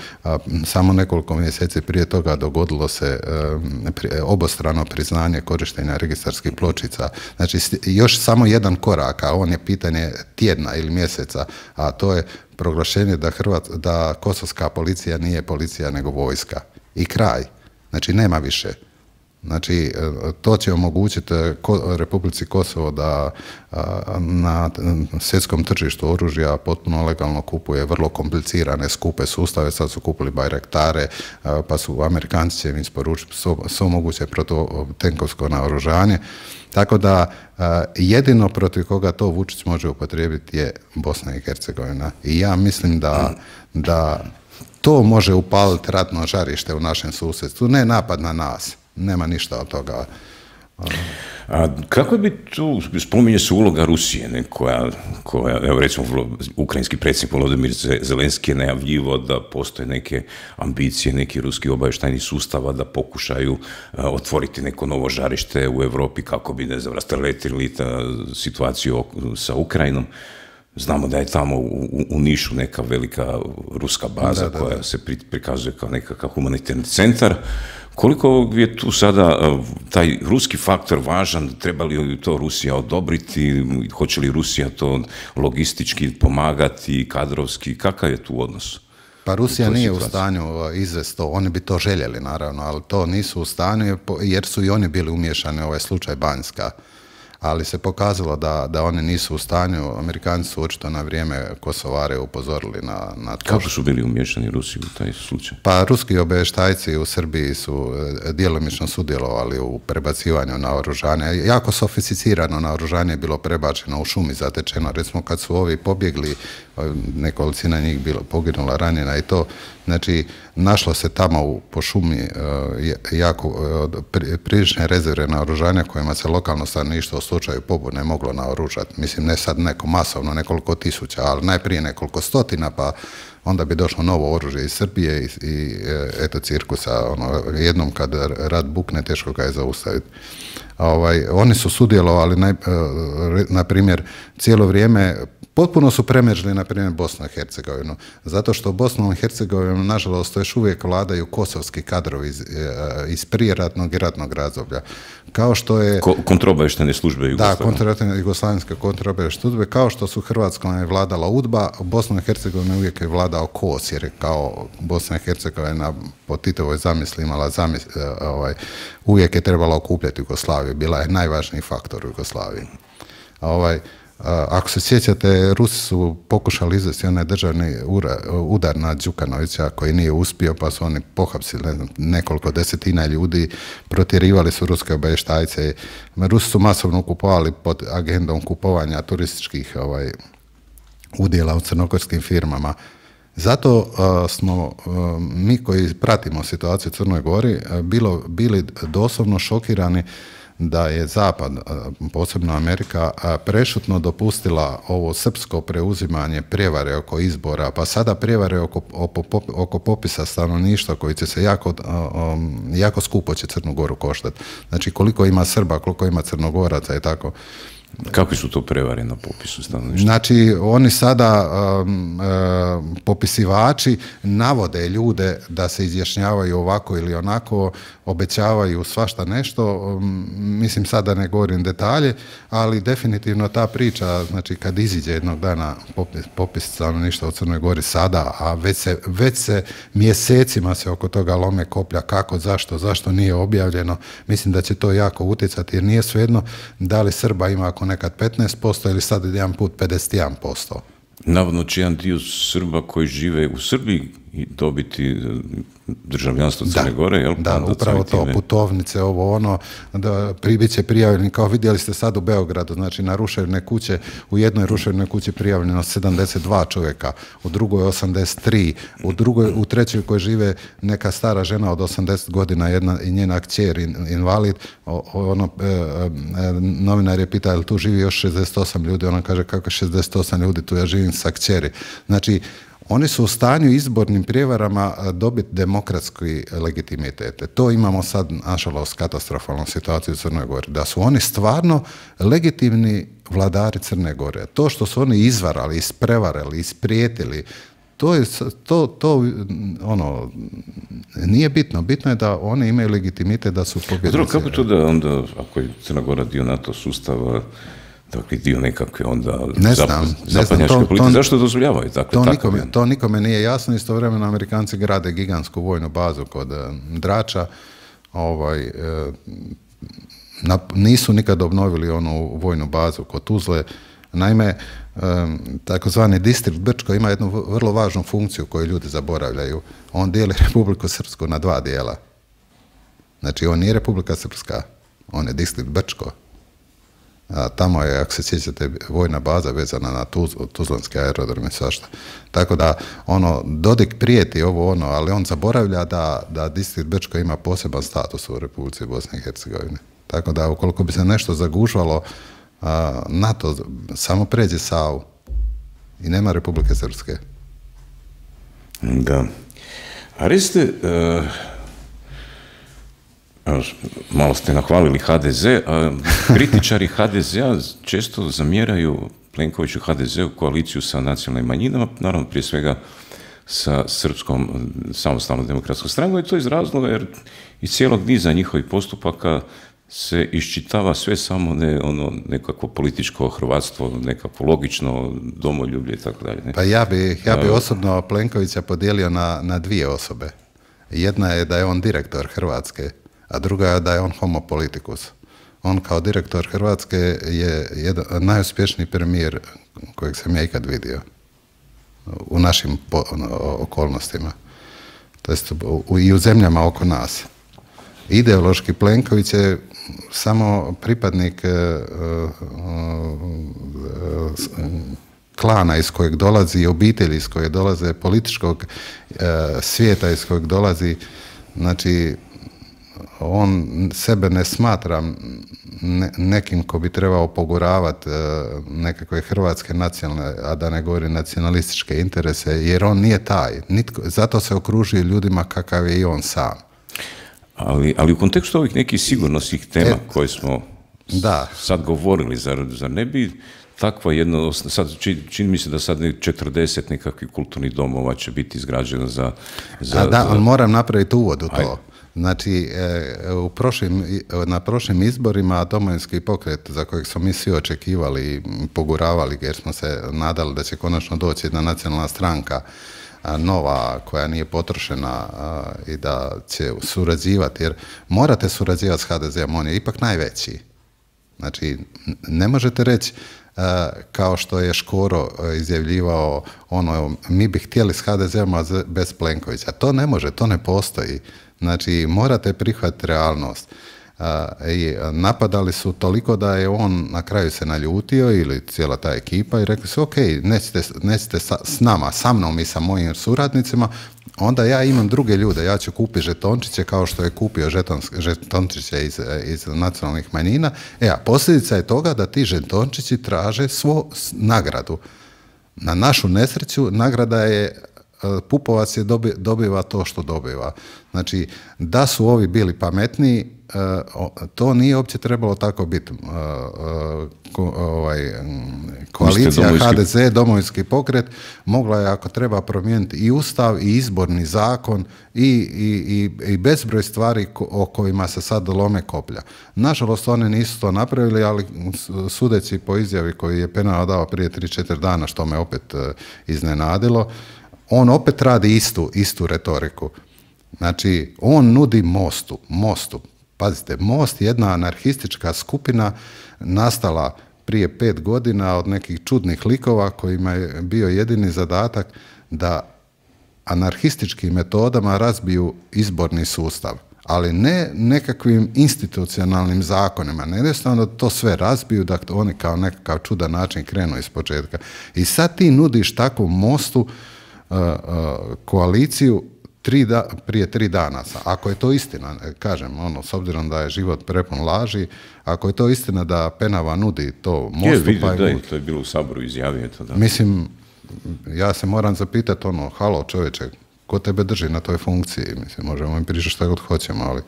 Samo nekoliko mjeseci prije toga dogodilo se obostrano priznanje korištenja registarskih pločica. Znači, još samo jedan korak, a on je pitanje tjedna ili mjeseca, a to je proglašenje da kosovska policija nije policija nego vojska. I kraj. Znači, nema više. Znači, to će omogućiti Republici Kosovo da na svjetskom tržištu oružja potpuno legalno kupuje vrlo komplicirane, skupe sustave. Sad su kupili Bajraktare, pa su Amerikanci će im isporučiti svo moguće protutenkovsko naoružanje. Tako da jedino protiv koga to Vučić može upotrijebiti je Bosna i Hercegovina. I ja mislim da to može upaliti ratno žarište u našem susjedstvu, ne napad na nas. Nema ništa od toga. A kako bi tu, spominje se uloga Rusije, koja, evo recimo, ukrajinski predsjednik Volodymyr Zelenski je najavljivo da postoje neke ambicije, neki ruski obavještajni sustava da pokušaju otvoriti neko novo žarište u Europi kako bi, ne znam, rasteretili situaciju sa Ukrajinom. Znamo da je tamo u Nišu neka velika ruska baza koja se prikazuje kao nekakav humanitarni centar. Koliko je tu sada taj ruski faktor važan, treba li to Rusija odobriti, hoće li Rusija to logistički pomagati, kadrovski, kakav je tu odnos? Pa Rusija nije u stanju izvesti to, oni bi to željeli naravno, ali to nisu u stanju jer su i oni bili umiješani u ovaj slučaj Banjska. Ali se pokazalo da oni nisu u stanju. Amerikanci su očito na vrijeme Kosovare upozorili na to. Kako su bili umiješani Rusi u taj slučaj? Pa ruski obavještajci u Srbiji su djelomično sudjelovali u prebacivanju naoružanja. Jako sofisticirano naoružanje je bilo prebačeno u šumi, zatečeno. Recimo kad su ovi pobjegli, nekolicina njih poginula, ranjena i to. Znači, našlo se tamo po šumi jako prilične rezerve naoružanja kojima se lokalno stanovništvo u slučaju pobune moglo naoružati. Mislim, ne sad neko masovno, nekoliko tisuća, ali najprije nekoliko stotina, pa onda bi došlo novo oružje iz Srbije i eto cirkusa. Jednom kad rat bukne, teško ga je zaustaviti. Oni su sudjelovali, na primjer, cijelo vrijeme. Potpuno su premrežili, na primjer, Bosnu i Hercegovinu, zato što Bosnu i Hercegovinu, nažalost, još uvijek vladaju kosovski kadrovi iz prijeratnog i ratnog razdoblja. Kao što je... Kontraobavještajne službe Jugoslavije. Da, jugoslavenske kontraobavještajne službe, kao što su Hrvatskom je vladala UDBA, Bosnu i Hercegovinu uvijek je vladao KOS, jer je kao Bosna i Hercegovina po Titovoj zamisli imala uvijek je trebala okupljati Jugoslaviju, bila je najvažniji faktor u Jugoslaviji. Ako se sjećate, Rusi su pokušali izvesti onaj državni udar na Đukanovića koji nije uspio, pa su oni pohapsili nekoliko desetina ljudi, protjerivali su ruske obavještajce. Rusi su masovno kupovali pod agendom kupovanja turističkih udjela u crnogorskim firmama. Zato smo mi koji pratimo situaciju u Crnoj Gori bili doslovno šokirani da je Zapad, posebno Amerika, prešutno dopustila ovo srpsko preuzimanje prijevare oko izbora, pa sada prijevare oko popisa stanovništva koji će se jako skupo će Crnu Goru koštati. Znači koliko ima Srba, koliko ima Crnogoraca i tako. Kakvi su to prevare na popisu stanovništva? Znači, oni sada popisivači navode ljude da se izjašnjavaju ovako ili onako, obećavaju svašta nešto, mislim sada ne govorim detalje, ali definitivno ta priča, znači kad iziđe jednog dana popis stanovništva u Crnoj Gori sada, a već se mjesecima se oko toga lome koplja kako, zašto nije objavljeno, mislim da će to jako utjecati, jer nije svejedno da li Srba ima ako nekad 15% ili sad jedan put 51%. Navodno će jedan dio Srba koji žive u Srbiji i dobiti državljanstvo Crne Gore, jel? Da, upravo to, putovnice, ovo ono, da bit će prijavljeni, kao vidjeli ste sad u Beogradu, znači na ruševne kuće, u jednoj ruševnoj kući prijavljeno 72 čovjeka, u drugoj 83, u trećoj koji žive neka stara žena od 80 godina, i njena kćer invalid, novinar je pitao, jel tu živi još 68 ljudi, ona kaže, kako 68 ljudi, tu ja živim sa kćeri. Znači, oni su u stanju izbornim prijevarama dobiti demokratski legitimitet. To imamo sad, nažalost, katastrofalnu situaciju u Crnoj Gori. Da su oni stvarno legitimni vladari Crne Gore. To što su oni izvarali, isprevarali, isprijetili, to nije bitno. Bitno je da oni imaju legitimitet da su pobjednici. Dobro, kako to da onda, ako je Crna Gora dio NATO sustava, dakle, dio nekakve onda zapadnjačke politike. Zašto dozvoljavaju takve? To nikome nije jasno. Istovremeno Amerikanci grade gigantsku vojnu bazu kod Drača. Nisu nikad obnovili onu vojnu bazu kod Tuzle. Naime, takozvani distrikt Brčko ima jednu vrlo važnu funkciju koju ljudi zaboravljaju. On dijeli Republiku Srpsku na dva dijela. Znači, on nije Republika Srpska, on je distrikt Brčko. Tamo je, ako se sjećate, vojna baza vezana na Tuzlanski aerodrom i svašta. Tako da, Dodik prijeti ali on zaboravlja da distrikt Brčko ima poseban status u Republici Bosne i Hercegovine. Tako da, ukoliko bi se nešto zagužvalo, NATO samo pređe Savu i nema Republike Srpske. Da. A recite, malo ste nahvalili HDZ, a kritičari HDZ-a često zamjeraju Plenkoviću HDZ-u koaliciju sa nacionalnim manjinama, naravno prije svega sa Srpskom samostalnom demokratskom strankom, i to iz razloga jer iz cijelog niza njihovih postupaka se iščitava sve samo ne nekako političko hrvatstvo, nekako logično domoljublje i tako dalje. Pa ja bi osobno Plenkovića podijelio na dvije osobe. Jedna je da je on direktor Hrvatske, a druga je da je on homo politikus. On kao direktor Hrvatske je najuspješniji premijer kojeg sam ja ikad vidio u našim okolnostima. To jest i u zemljama oko nas. Ideološki Plenković je samo pripadnik klana iz kojeg dolazi, obitelji iz kojeg dolaze, političkog svijeta iz kojeg dolazi. Znači, on sebe ne smatra nekim ko bi trebao poguravati nekakve hrvatske nacionalne, a da ne govori nacionalističke interese, jer on nije taj. Zato se okružuje ljudima kakav je i on sam. Ali u kontekstu ovih nekih sigurnosnih tema koje smo sad govorili, zar ne bi takva jedno, sad čini mi se da sad 40 nekakvih kulturnih domova će biti izgrađeno za... ali moram napraviti uvod u to. Znači, na prošlim izborima Domovinski pokret, za kojeg smo mi svi očekivali i poguravali, jer smo se nadali da će konačno doći jedna nacionalna stranka nova, koja nije potrošena i da će surađivati, jer morate surađivati s HDZ-om, on je ipak najveći. Znači, ne možete reći kao što je Škoro izjavljivao, mi bi htjeli s HDZ-om bez Plenkovića. To ne može, to ne postoji. Znači, morate prihvatiti realnost. I napadali su toliko da je on na kraju se naljutio ili cijela ta ekipa i rekli su, ok, nećete s nama, sa mnom i sa mojim suradnicima, onda ja imam druge ljude, ja ću kupiti žetončiće kao što je kupio žetončiće iz nacionalnih manjina. A posljedica je toga da ti žetončići traže svoju nagradu. Na našu nesreću nagrada je Pupovac dobiva to što dobiva. Znači, da su ovi bili pametniji, to nije uopće trebalo tako biti. Koalicija HDZ, Domovinski pokret, mogla je, ako treba, promijeniti i ustav i izborni zakon i bezbroj stvari o kojima se sad lome koplja. Nažalost, oni nisu to napravili, ali sudeći po izjavi koju je Penava dao prije 3-4 dana, što me opet iznenadilo, on opet radi istu retoriku. Znači, on nudi Mostu. Pazite, Most je jedna anarhistička skupina nastala prije 5 godina od nekih čudnih likova kojima je bio jedini zadatak da anarhističkim metodama razbiju izborni sustav, ali ne nekakvim institucionalnim zakonima, ne jednostavno da to sve razbiju, da oni kao nekakav čudan način krenu iz početka. I sad ti nudiš takvom Mostu koaliciju prije 3 dana. Ako je to istina, kažem, s obzirom da je život prepun laži, ako je to istina da Penava nudi to Mostu... To je bilo u Saboru izjavio to, da. Mislim, ja se moram zapitati halo čovječe, ko tebe drži na toj funkciji? Mislim, možemo im pričati što god hoćemo, ali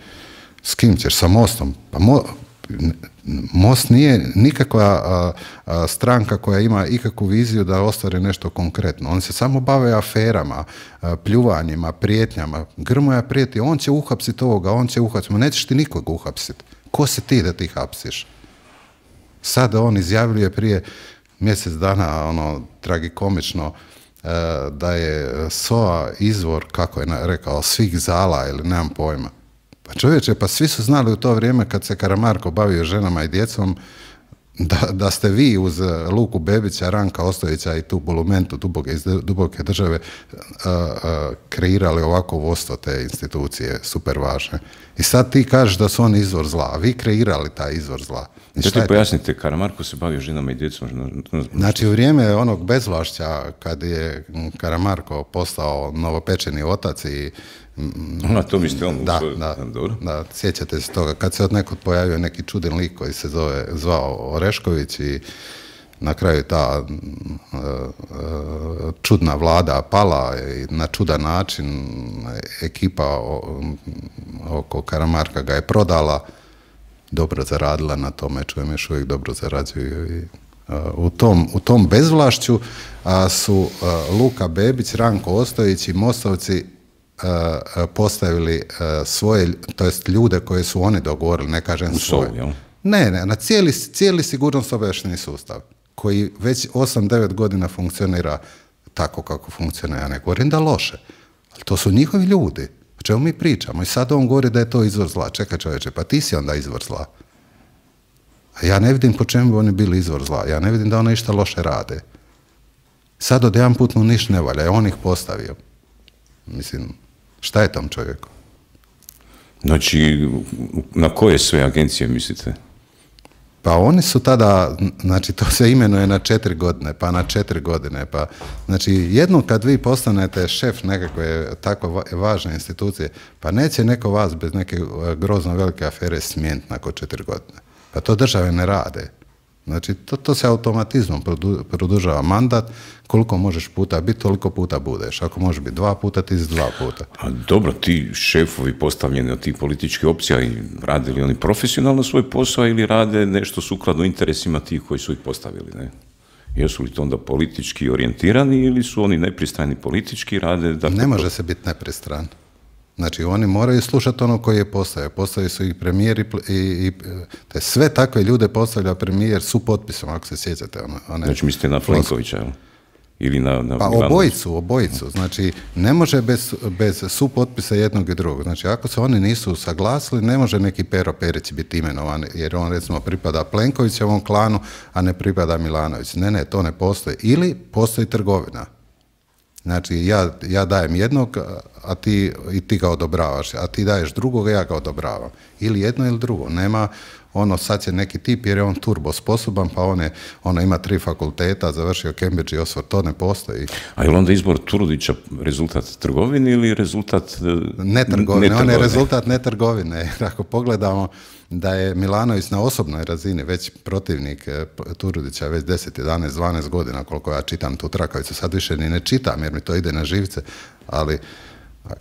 s kim ćeš? Sa Mostom? Pa Most nije nikakva stranka koja ima ikakvu viziju da ostvari nešto konkretno. On se samo bave aferama, pljuvanjima, prijetnjama. Grmoja prijeti, on će uhapsiti ovoga, on će uhapsiti. Nećeš ti nikog uhapsiti. Ko si ti da ti hapsiš? Sada on izjavljuje prije mjesec dana, tragikomično, da je SOA izvor, kako je rekao, svih zala ili nemam pojma. Pa čovječe, pa svi su znali u to vrijeme kad se Karamarko bavio ženama i djecom da ste vi uz Luku Bebića, Ranka Ostojića i tu bulumentu iz duboke države kreirali ovako vodstvo te institucije, super važne. I sad ti kažeš da su oni izvor zla, a vi kreirali taj izvor zla. Da ti pojasnite, Karamarko se bavio ženama i djecom? Znači, u vrijeme onog bezvlašća, kad je Karamarko postao novopečeni otac i to mislite on? Da, sjećate se toga. Kad se od nekog pojavio neki čudan lik koji se zvao Orešković i na kraju ta čudna vlada pala i na čudan način ekipa oko Karamarka ga je prodala, dobro zaradila na tome, čujem još uvijek dobro zarađuju. I u tom bezvlašću su Luka Bebić, Ranko Ostojić i Mostovci postavili svoje, to jest ljude koje su oni dogovorili, ne kažem svoje. Ne, na cijeli sigurnosno-obavještajni sustav, koji već 8-9 godina funkcionira tako kako funkcionira. Ja ne govorim da loše, ali to su njihovi ljudi. O čemu mi pričamo? I sad on govori da je to izvor zla. Čekaj čovječe, pa ti si onda izvor zla. A ja ne vidim po čemu bi oni bili izvor zla. Ja ne vidim da oni išta loše rade. Sad od jedan put mu ništa ne valja, on ih postavio. Mislim, šta je tom čovjeku? Znači, na koje sve agencije mislite? Pa oni su tada, znači to se imenuje na 4 godine, pa na 4 godine, pa znači jednom kad vi postanete šef nekakve tako važne institucije, pa neće neko vas bez neke grozno velike afere smijeniti nakon 4 godine. Pa to države ne rade. Znači, to se automatizmom produžava mandat, koliko možeš puta biti, toliko puta budeš. Ako možeš biti 2 puta, ti si 2 puta. A dobro, ti šefovi postavljeni od tih političkih opcija, rade li oni profesionalno svoj posao ili rade nešto sukladno interesima tih koji su ih postavili, ne? Jesu li to onda politički orijentirani ili su oni nepristrani politički, rade... Ne može se biti nepristran. Znači, oni moraju slušati ono koji je postavio. Postavili su ih premijer i sve takve ljude postavlja premijer su potpisom, ako se sjećate. Znači, mislite na Plenkovića, jel? Ili na pa obojicu. Znači, ne može bez supotpisa jednog i drugog. Znači, ako se oni nisu saglasili, ne može neki Pero Perić biti imenovan, jer on, recimo, pripada Plenkovićevom klanu, a ne pripada Milanović. Ne, to ne postoji. Ili postoji trgovina. Znači, ja dajem jednog, a ti ga odobravaš, a ti daješ drugog, ja ga odobravam. Ili jedno ili drugo. Nema sad će neki tip jer je on turbo sposoban, pa on ima 3 fakulteta, završio Cambridge i Oxford, to ne postoji. A je li onda izbor Turudića rezultat trgovine ili rezultat netrgovine? On je rezultat netrgovine. Jer ako pogledamo da je Milanović na osobnoj razini već protivnik Turudića već 10, 11, 12 godina, koliko ja čitam tu trakavicu, sad više ni ne čitam jer mi to ide na živce, ali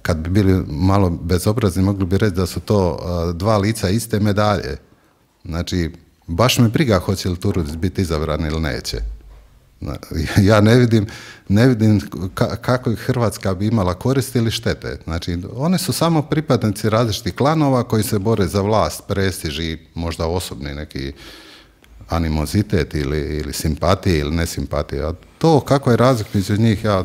kad bi bili malo bezobrazni mogli bi reći da su to 2 lica iste medalje. Znači, baš me briga hoće li Turudić biti izabran ili neće. Ja ne vidim kako Hrvatska bi imala koristi ili štete. Znači, one su samo pripadnici različitih klanova koji se bore za vlast, prestiž i možda osobni neki animozitet ili simpatije ili nesimpatije. A to kako je razlika između njih, ja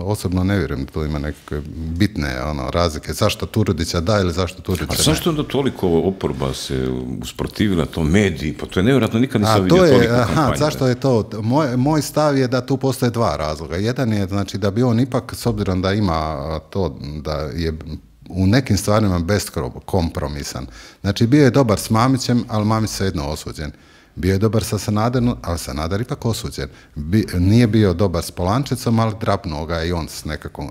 osobno ne vjerujem da to ima nekakve bitne razlike. Zašto Turudića da ili zašto Turudića ne? A zašto onda toliko oporba se usprotivila to mediji? Pa to je nevjerojatno, nikad nisam vidio toliko kampanje. Zašto je to? Moj stav je da tu postoje dva razloga. Jedan je znači da bi on ipak, s obzirom da ima to da je u nekim stvarima beskompromisan. Znači bio je dobar s Mamićem, ali Mamić svejedno osuđen. Bio je dobar sa Sanaderom, ali Sanader ipak osuđen. Nije bio dobar s Polančecom, ali drapnuo ga i on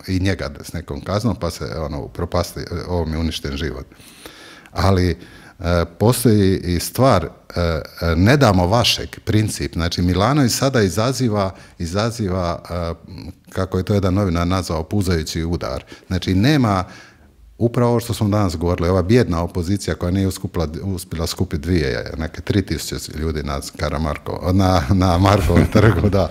i njega s nekom kaznom, pa se propasti, ovom je uništen život. Ali postoji i stvar, ne damo vašeg princip. Znači Milanović sada izaziva kako je to jedan novinar nazvao, puzajući udar. Znači nema upravo ovo što smo danas govorili, ova bijedna opozicija koja nije uspjela skupiti neke 3000 ljudi na Markovom trgu, da,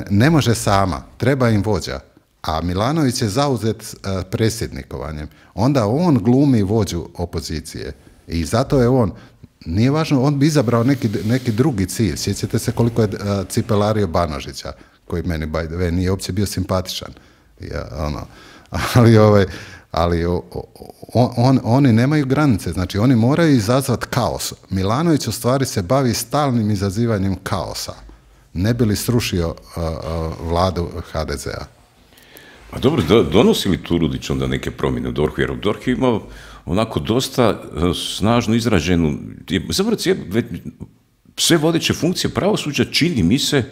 ne može sama, treba im vođa. A Milanović je zauzet predsjednikovanjem. Onda on glumi vođu opozicije. I zato je on, nije važno, on bi izabrao neki drugi cilj. Sjećate se koliko je cipelario Banožića, koji meni, by the way, nije uopće bio simpatičan. Ali oni nemaju granice, znači oni moraju izazvati kaos. Milanović u stvari se bavi stalnim izazivanjem kaosa. Ne bi li srušio vladu HDZ-a? A dobro, donosi li Turudić onda neke promjene u DORH-u? Jer DORH je imao onako dosta snažno izraženu, zapravo sve vodeće funkcije pravosuđa čini mi se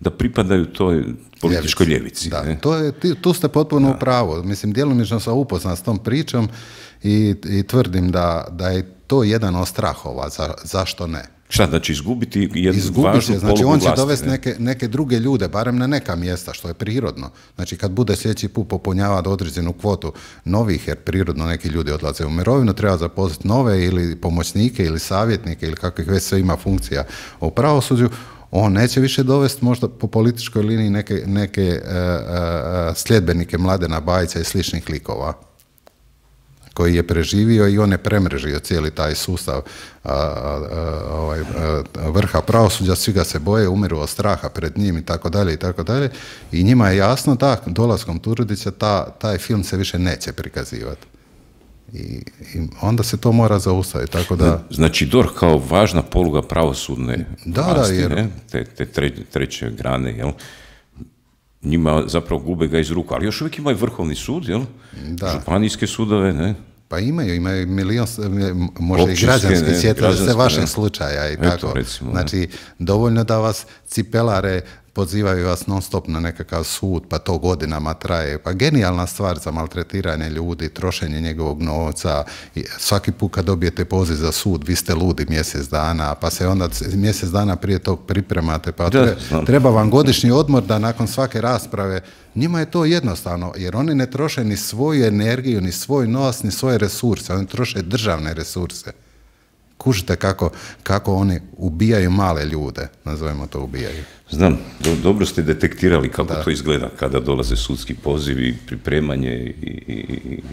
da pripadaju toj političkoj ljevici. Da, tu ste potpuno u pravu. Mislim, djelomično sam upoznat s tom pričom i tvrdim da je to jedan od strahova. Zašto ne? Šta, znači izgubiti jednu važnu polugu vlasti? Znači on će dovesti neke druge ljude, barem na neka mjesta, što je prirodno. Znači kad bude sljedeći put popunjavati određenu kvotu novih, jer prirodno neki ljudi odlaze u mirovinu, treba zaposliti nove ili pomoćnike ili savjetnike ili kakvih već sve ima funkcija u pravosuđu. On neće više dovesti možda po političkoj liniji neke sljedbenike Mladena Bajića i sličnih likova koji je preživio i on je premrežio cijeli taj sustav vrha pravosuđa, svi ga se boje, umiru od straha pred njim i tako dalje i tako dalje. I njima je jasno da dolaskom Turudića taj film se više neće prikazivati. I onda se to mora zaustaviti, tako da... Znači DORH kao važna poluga pravosudne vlasti, te treće grane, jel? Njima zapravo gube ga iz ruku, ali još uvijek imaju Vrhovni sud, jel? Županijske sudove, ne? Pa imaju milion, možda i građanske, sjetite se vašeg slučaja i tako. Recimo, znači, dovoljno da vas cipelare pozivaju vas non stop na nekakav sud, pa to godinama traje. Pa genijalna stvar za maltretiranje ljudi, trošenje njegovog novca. I svaki put kad dobijete poziv za sud, vi ste ludi mjesec dana, pa se onda mjesec dana prije tog pripremate, pa treba vam godišnji odmor da nakon svake rasprave. Njima je to jednostavno, jer oni ne troše ni svoju energiju, ni svoj novac, ni svoje resurse. Oni troše državne resurse. Kužite kako oni ubijaju male ljude, nazovemo to ubijaju. Znam, dobro ste detektirali kako to izgleda kada dolaze sudski pozivi, pripremanje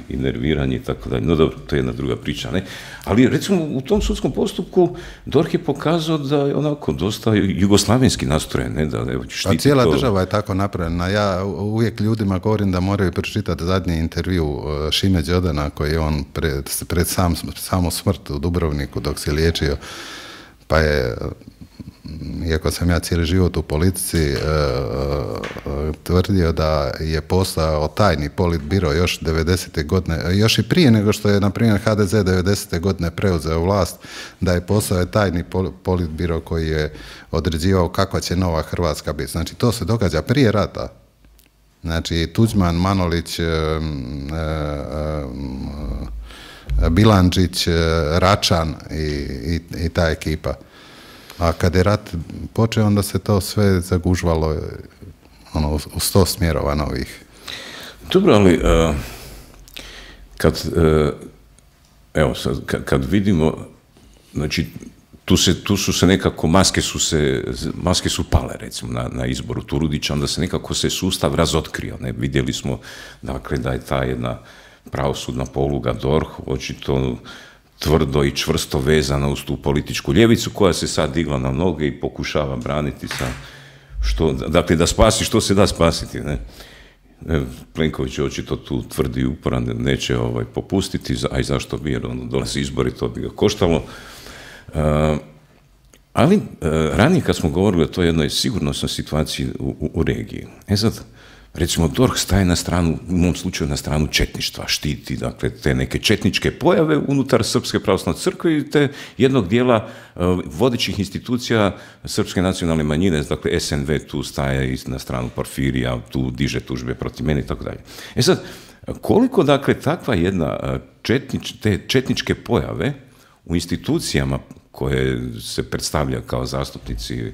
i nerviranje i tako dalje. No dobro, to je jedna druga priča, ne? Ali recimo u tom sudskom postupku DORH je pokazao da je onako dosta jugoslavenski nastrojen, ne? Da štiti to. Cijela država je tako napravljena. Ja uvijek ljudima govorim da moraju pročitati zadnji intervju Šime Đodana koji je on pred samu smrt u Dubrovniku dok se liječio, pa je, iako sam ja cijeli život u politici, tvrdio da je postojao tajni politbiro još 90. godine, još i prije nego što je, na primjer, HDZ 90. godine preuzeo vlast, da je postojao tajni politbiro koji je određivao kakva će nova Hrvatska biti. Znači, to se događa prije rata. Znači, Tuđman, Manolić, Bilandžić, Račan i ta ekipa. A kad je rat počeo, onda se to sve zagužvalo u 100 smjerova novih. Dobro, ali kad vidimo, znači tu su se nekako, maske su pale recimo na izboru Turudića, onda se nekako se sustav razotkrio. Ne? Vidjeli smo dakle da je ta jedna pravosudna poluga DORH očito tvrdo i čvrsto vezana uz tu političku ljevicu koja se sad digla na noge i pokušava braniti sa dakle da spasi što se da spasiti, ne? Plenković očito tu tvrdi i uporan neće popustiti, a i zašto bi, jer dolazi izbori, to bi ga koštalo. Ali ranije kad smo govorili o toj jednoj sigurnosnoj situaciji u regiji, sad, recimo, DORH staje na stranu, u mom slučaju na stranu četništva, štiti, dakle, te neke četničke pojave unutar Srpske pravoslavne crkve i te jednog dijela vodećih institucija Srpske nacionalne manjine, dakle, SNV tu staje na stranu Porfirija, tu diže tužbe protiv mene i tako dalje. Sad, koliko, dakle, takva jedna te četničke pojave u institucijama koje se predstavlja kao zastupnici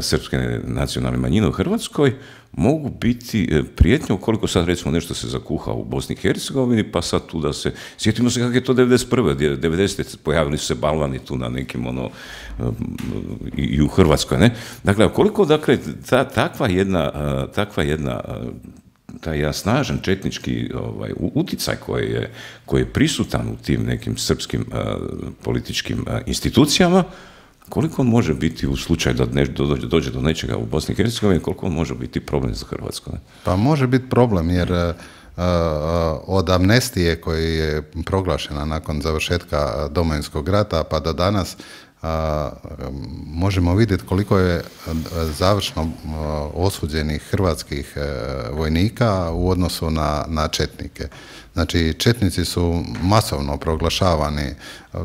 Srpske nacionalne manjine u Hrvatskoj, mogu biti prijetnje ukoliko sad recimo nešto se zakuha u Bosni i Hercegovini, pa sad tu da se, sjetimo se kako je to 91. 90. pojavili su se balvani tu na nekim i u Hrvatskoj, ne? Dakle, koliko, dakle, takva jedna taj snažan četnički uticaj koji je prisutan u tim nekim srpskim političkim institucijama, koliko on može biti u slučaju da dođe do nečega u Bosni i Hercegovini, koliko on može biti problem za Hrvatsku? Ne? Pa može biti problem, jer od amnestije koja je proglašena nakon završetka Domovinskog rata pa do danas, možemo vidjeti koliko je završno osuđenih hrvatskih vojnika u odnosu na četnike. Znači, četnici su masovno proglašavani.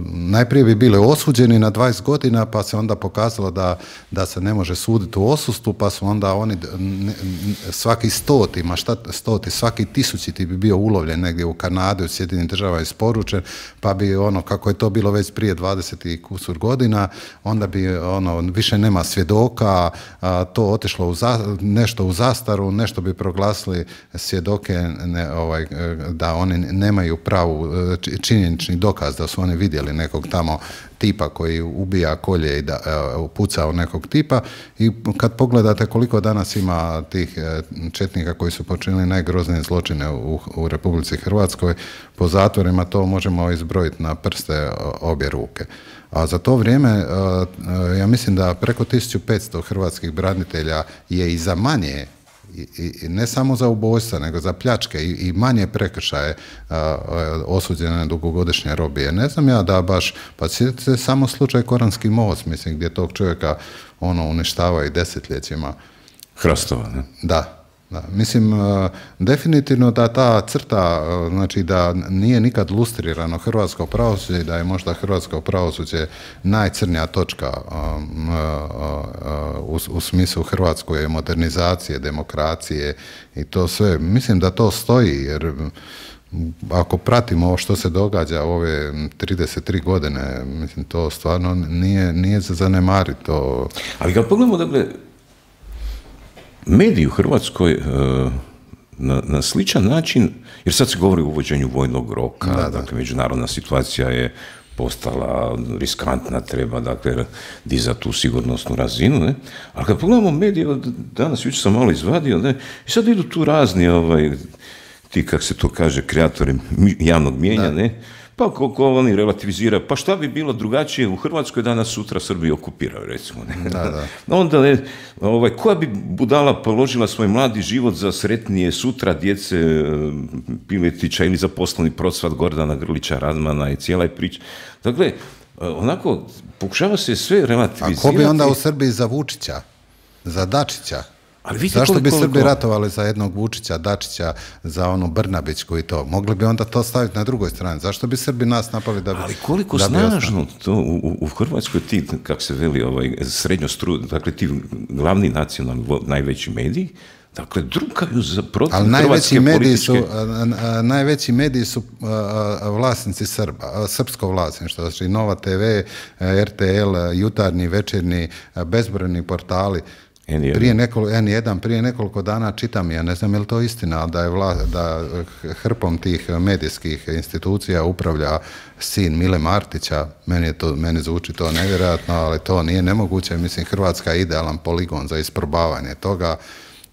Najprije bi bili osuđeni na 20 godina, pa se onda pokazalo da se ne može suditi u odsustvu, pa su onda oni svaki svaki 1000 bi bio ulovljen negdje u Kanadi, u Sjedinim državama isporučen, pa bi kako je to bilo već prije 20 i kusur godina, onda bi više nema svjedoka, to otišlo nešto u zastaru, nešto bi proglasili svjedoke da oni nemaju pravu činjenični dokaz da su oni vidjeli nekog tamo tipa koji ubija, kolje i puca u nekog tipa, i kad pogledate koliko danas ima tih četnika koji su počinili najgroznije zločine u Republici Hrvatskoj, po zatvorima to možemo izbrojiti na prste obje ruke. A za to vrijeme, ja mislim da preko 1500 hrvatskih branitelja je i za manje, i ne samo za ubojstva, nego za pljačke i manje prekršaje osuđene na dugogodišnje robije. Ne znam ja da baš, pa sjetite samo slučaj Koranski most, mislim, gdje tog čovjeka uništava i desetljećima. Hrastova, ne? Da. Mislim, definitivno da ta crta, znači da nije nikad lustrirano hrvatsko pravosuđe i da je možda hrvatsko pravosuđe najcrnija točka u smislu Hrvatskoj modernizacije, demokracije i to sve. Mislim da to stoji, jer ako pratimo ovo što se događa u ove 33 godine, mislim, to stvarno nije za zanemariti. Ali kad pogledamo, dakle, mediji u Hrvatskoj na sličan način, jer sad se govori o uvođenju vojnog roka, dakle, međunarodna situacija je postala riskantna, treba, dakle, dizati tu sigurnosnu razinu, ne? Ali kad pogledamo medije, danas jučer sam malo izvadio, ne? I sad idu tu razni, ti, kako se to kaže, kreatori javnog mijenja, ne? Pa koliko oni relativiziraju, pa šta bi bilo drugačije u Hrvatskoj da nas sutra Srbi okupiraju, recimo. Ne? Onda, koja bi budala položila svoj mladi život za sretnije sutra djece Piletića ili za poslovni procvat Gordana Grlića Radmana i cijela je priča. Dakle, onako, pokušava se sve relativizirati. A ko bi onda u Srbiji za Vučića, za Dačića? Zašto bi Srbi ratovali za jednog Vučića, Dačića, za Brnabićku i to? Mogli bi onda to staviti na drugoj strani. Zašto bi Srbi nas napali da bi... Ali koliko snažno to u Hrvatskoj ti, kako se veli, dakle ti glavni nacionalni, najveći mediji, dakle, drukaju protiv hrvatske političke... Najveći mediji su vlasnici Srba, srpsko vlasništvo, znači Nova TV, RTL, Jutarnji, Večernji, bezbrojni portali. N1, prije nekoliko dana čitam, ja ne znam je li to istina, da hrpom tih medijskih institucija upravlja sin Mile Martića. Meni zvuči to nevjerojatno, ali to nije nemoguće. Mislim, Hrvatska je idealan poligon za isprobavanje toga.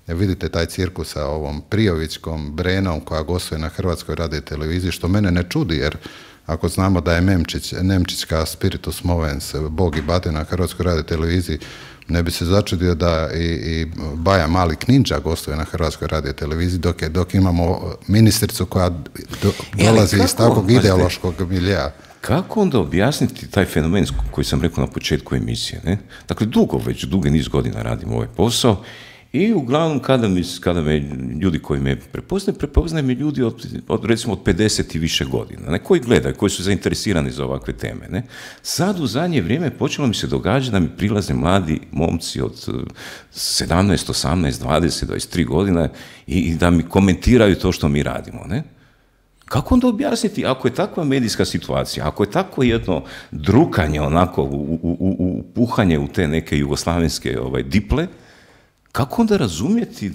Vidite taj cirkus sa ovom Prijovićkom, Brenom koja gostuje na Hrvatskoj radioteleviziji, što mene ne čudi, jer ako znamo da je Nemčićka Spiritus Movens, Bog i batina na Hrvatskoj radioteleviziji, ne bi se začudio da i Baja Mali Kninđa gostuje na Hrvatskoj radioteleviziji, dok imamo ministricu koja dolazi iz takvog ideološkog miljea. Kako onda objasniti taj fenomen koji sam rekao na početku emisije? Ne? Dakle, dugi niz godina radim ovaj posao i uglavnom kada me ljudi koji me prepoznaju me ljudi recimo od 50 i više godina, ne? Koji gledaju, koji su zainteresirani za ovakve teme. Ne? Sad u zadnje vrijeme počelo mi se događati da mi prilaze mladi momci od 17, 18, 20, 23 godina i da mi komentiraju to što mi radimo. Ne? Kako onda objasniti, ako je takva medijska situacija, ako je takvo jedno drukanje, onako, puhanje u te neke jugoslavenske diple, kako onda razumjeti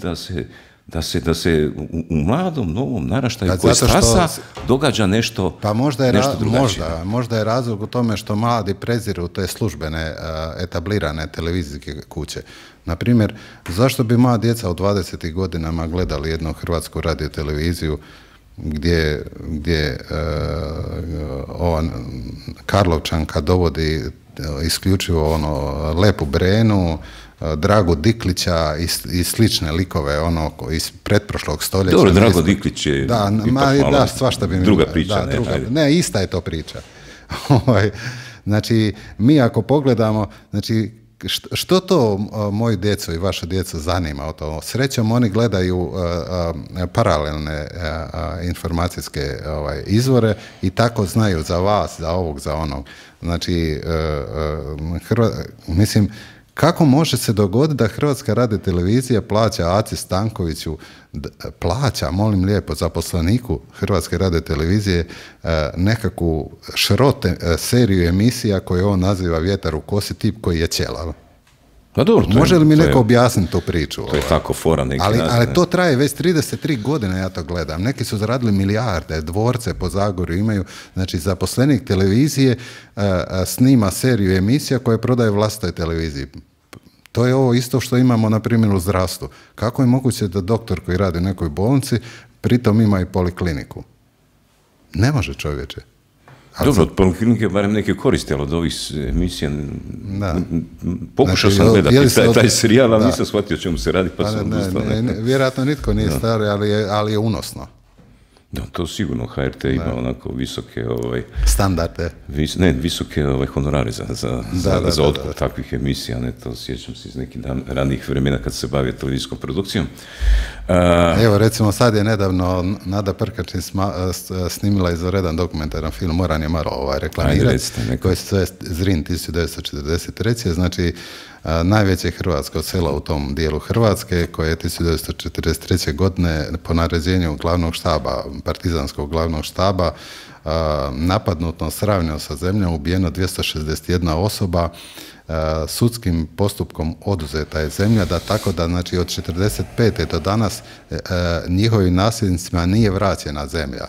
da se u mladom, novom naraštaju koji stasa događa nešto, pa nešto drugačije? Možda je razlog u tome što mladi preziru te službene, etablirane televizijske kuće. Naprimjer, zašto bi moja djeca u 20. godinama gledali jednu hrvatsku radioteleviziju gdje Karlovčanka dovodi isključivo Lepu Brenu, Dragu Diklića i slične likove iz pretprošlog stoljeća. Dobro, Drago Diklić je svašta bi mi... Druga priča. Ne, ista je to priča. Znači, mi ako pogledamo, znači, što to moju djecu i vašu djecu zanima o to? Srećom, oni gledaju paralelne informacijske izvore i tako znaju za vas, za ovog, za onog. Znači, mislim, kako može se dogoditi da Hrvatska radiotelevizija plaća Aci Stankoviću, molim lijepo, zaposleniku Hrvatske radiotelevizije nekakvu seriju emisija koju on naziva Vjetar u kosi, tip koji je ćelav? Pa dobro, može li mi neko objasniti tu priču? To je tako fora neki. Ali to traje već 33 godine, ja to gledam. Neki su zaradili milijarde, dvorce po Zagorju imaju. Znači, zaposlenik televizije snima seriju emisija koje prodaje vlastitoj televiziji. To je ovo isto što imamo, na primjer, u zdravstvu. Kako je moguće da doktor koji radi u nekoj bolnici pritom ima i polikliniku? Ne može, čovječe. Dobro, od poliklinike barem neke koriste, ali od ovih emisija pokušao sam gledati taj serijal, ali nisam shvatio o čemu se radi, pa sam odustao. Vjerojatno nitko nije stari, ali je unosno. Da, to sigurno HRT ima onako visoke standarde. Visoke honorare za otkup takvih emisija. Ne, to sjećam se iz nekih ranijih vremena kad se bavio televizijskom produkcijom. Evo, recimo, sad je nedavno Nada Prkačin snimila izvanredan dokumentaran film, moram je malo reklamirati, koji se zove Zrin 1943. Znači, najveće hrvatsko selo u tom dijelu Hrvatske, koje je 1943. godine po naređenju glavnog štaba, partizanskog glavnog štaba, napadnuto, sravnjeno sa zemljom, ubijeno 261 osoba, sudskim postupkom oduzeta je zemlja, tako da, znači, od 1945. do danas njihovim nasljednicima nije vraćena zemlja.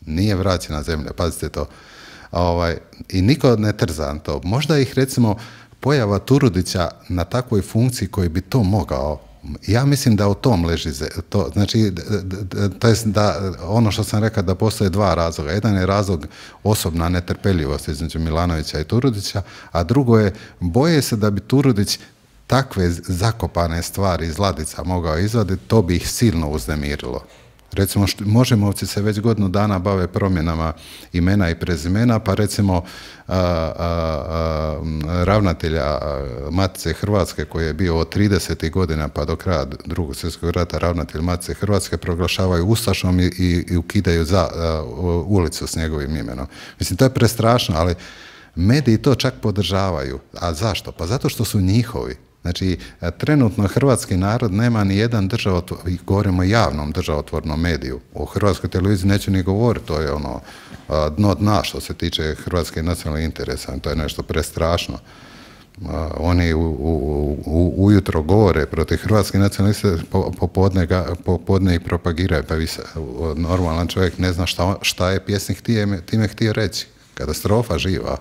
Nije vraćena zemlja, pazite to. I niko ne trza to. Možda ih, recimo, pojava Turudića na takvoj funkciji koji bi to mogao, ja mislim da u tom leži to. Znači, to je da ono što sam rekao, da postoje dva razloga. Jedan je razlog osobna netrpeljivost između Milanovića i Turudića, a drugo je, boje se da bi Turudić takve zakopane stvari iz ladica mogao izvaditi, to bi ih silno uznemirilo. Recimo, Možemovci se već godinu dana bave promjenama imena i prezimena, pa recimo ravnatelja Matice Hrvatske, koji je bio od 30. godina pa do kraja Drugog svjetskog rata ravnatelj Matice Hrvatske, proglašavaju ustašom i ukidaju ulicu s njegovim imenom. Mislim, to je prestrašno, ali mediji to čak podržavaju. A zašto? Pa zato što su njihovi. Znači, trenutno hrvatski narod nema ni jedan govorimo o javnom državotvornom mediju. O Hrvatskoj televiziji neću ni govoriti, to je dno dna što se tiče hrvatskih nacionalnih interesa, to je nešto prestrašno. Oni ujutro govore protiv hrvatskih nacionalista, popodne ih propagiraju, pa normalan čovjek ne zna šta je pjesnik time htio reći. Katastrofa živa.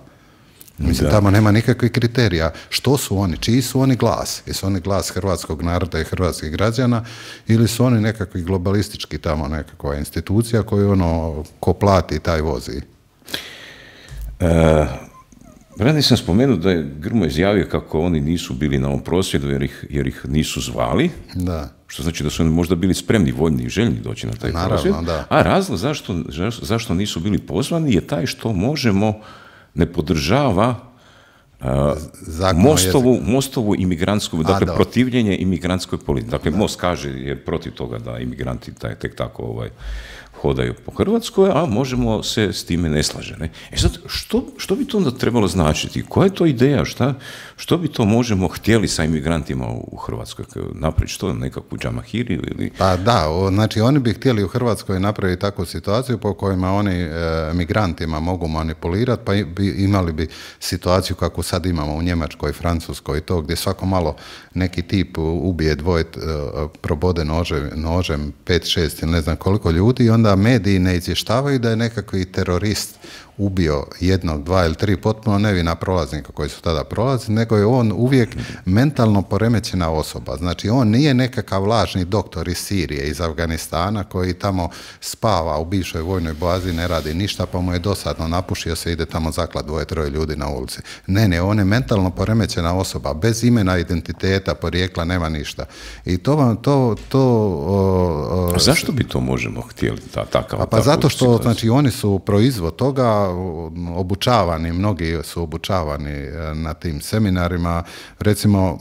Mislim, tamo nema nikakvih kriterija. Što su oni? Čiji su oni glas? Jesu oni glas hrvatskog naroda i hrvatskih građana ili su oni nekakvi globalistički tamo nekakva institucija koju ko plati taj vozi? Ranije sam spomenuo da je Grmoja izjavio kako oni nisu bili na ovom prosvjedu jer ih nisu zvali, Da. što znači da su oni možda bili spremni, voljni i željni doći na taj prosvjed. Da. A razlog zašto nisu bili pozvani je taj što Možemo ne podržava Mostovu imigrantsku, dakle protivljenje imigrantskoj politici. Dakle, Most kaže je protiv toga da imigranti tek tako hodaju po Hrvatskoj, a Možemo se s time ne slaže. Ne? Sad, što bi to onda trebalo značiti? Koja je to ideja? Što bi to Možemo htjeli sa imigrantima u Hrvatskoj? Napraviti što? Nekakvu džamahiriju? Ili... Pa da, znači oni bi htjeli u Hrvatskoj napraviti takvu situaciju po kojima oni migrantima mogu manipulirati, pa imali bi situaciju kakvu sad imamo u Njemačkoj, Francuskoj i to, gdje svako malo neki tip ubije dvoje, probode nožem 5-6 ili ne znam koliko ljudi i onda mediji ne izvještavaju da je nekakvi terorist ubio 1, 2 ili 3 potpuno nevina prolaznika koji su tada prolazili, nego je on uvijek mentalno poremećena osoba. Znači, on nije nekakav lažni doktor iz Sirije, iz Afganistana, koji tamo spava u bivšoj vojnoj bazi, ne radi ništa, pa mu je dosadno, napušio se, ide tamo zaklat 2-3 ljudi na ulici. Ne, on je mentalno poremećena osoba, bez imena, identiteta, porijekla, nema ništa. I zašto bi to Možemo htjeli takav? Pa zato što, znači, oni su proizvod toga, obučavani, mnogi su obučavani na tim seminarima, recimo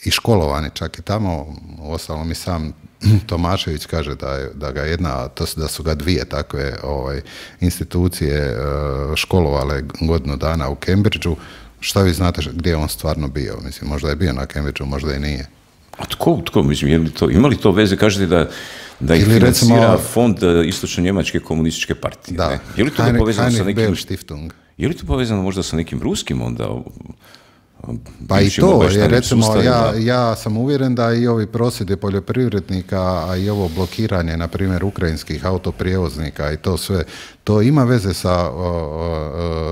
i školovani čak i tamo, uostalom i sam Tomašević kaže da ga da su ga 2 takve institucije školovale godinu dana u Cambridgeu. Šta vi znate gdje je on stvarno bio? Mislim, možda je bio na Cambridgeu, možda i nije. A tko? Mislim, ima li to veze? Kažete da ih financira recimo, fond Istočno-Njemačke komunističke partije. Da, ne? Je li to povezano sa nekim... Stiftung. Je li to povezano možda sa nekim ruskim onda? Pa i to, jer recimo ja sam uvjeren da i ovi prosvjedi poljoprivrednika, a i ovo blokiranje, na primjer, ukrajinskih autoprijevoznika i to sve, to ima veze sa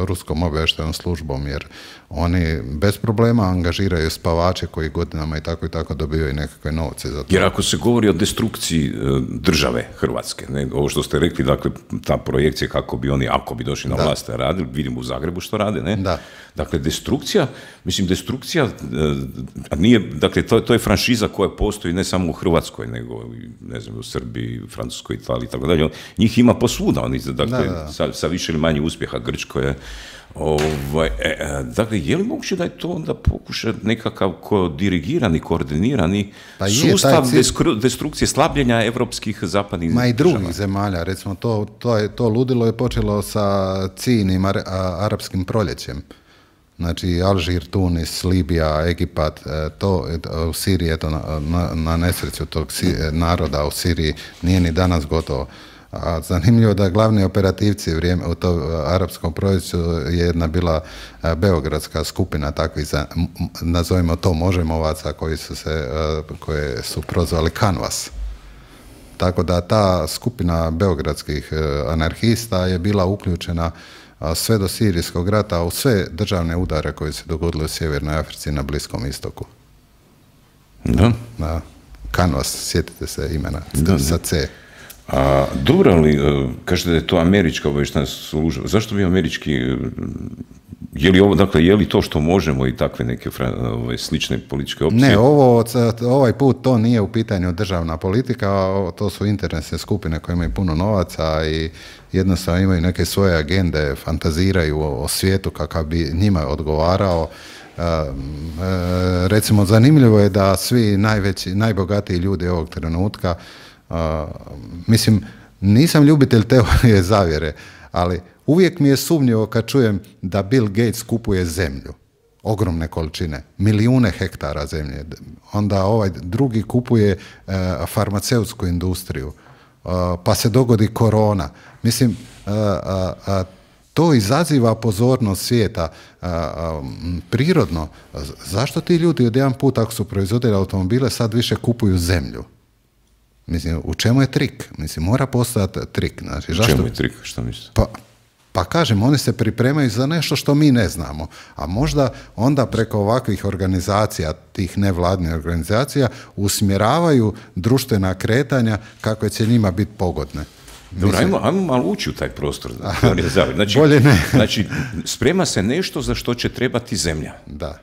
ruskom obavještajnom službom, jer oni bez problema angažiraju spavače koji godinama i tako dobivaju nekakve novce za to. Jer ako se govori o destrukciji države Hrvatske, ne, ovo što ste rekli, dakle, ta projekcija kako bi oni, ako bi došli na vlast, radili, vidimo u Zagrebu što rade, ne? Da. Dakle, destrukcija, nije, dakle, to je franšiza koja postoji ne samo u Hrvatskoj, nego, ne znam, u Srbiji, Francuskoj, Italiji, tako dalje. Njih ima posvuda, oni, dakle, sa više ili manje uspjeha, Grčkoj je. Dakle, je li moguće da je to onda pokuša nekakav dirigirani, koordinirani sustav destrukcije, slabljenja evropskih zapadnih država? Ma i drugih zemalja, recimo to ludilo je počelo sa ciljnim arapskim proljećem. Znači, Alžir, Tunis, Libija, Egipat, to u Siriji, eto, na nesreću tog naroda u Siriji nije ni danas gotovo. A zanimljivo da glavni operativci u tom arapskom proljeću je jedna bila beogradska skupina takvih, nazovimo to Možemovaca, koje su prozvali Kanvas. Tako da ta skupina beogradskih anarhista je bila uključena sve do Sirijskog rata u sve državne udare koje se dogodile u Sjevernoj Africi i na Bliskom istoku. Da. Kanvas, sjetite se imena, sa C. Dobro, ali kažete da je to američka obavještajna služba. Zašto bi američki... Je li to što Možemo i takve neke slične političke opcije? Ne, ovaj put to nije u pitanju državna politika, to su interesne skupine koje imaju puno novaca i jednostavno imaju neke svoje agende, fantaziraju o svijetu kakav bi njima odgovarao. Recimo, zanimljivo je da svi najbogatiji ljudi ovog trenutka, mislim, nisam ljubitelj teorije zavjere, ali uvijek mi je sumnjivo kad čujem da Bill Gates kupuje zemlju, ogromne količine, milijune hektara zemlje, onda ovaj drugi kupuje farmaceutsku industriju, pa se dogodi korona. Mislim, to izaziva pozornost svijeta prirodno. Zašto ti ljudi od jedan put, ako su proizvodili automobile, sad više kupuju zemlju? Mislim, u čemu je trik? Mislim, mora postati trik. Znači, u čemu je trik? Što mislite? Pa kažem, oni se pripremaju za nešto što mi ne znamo. A možda onda preko ovakvih organizacija, tih nevladnih organizacija, usmjeravaju društvena kretanja kako će njima biti pogodne. Dobro, ajmo malo ući u taj prostor. Znači, bolje ne. Znači, sprema se nešto za što će trebati zemlja. Da.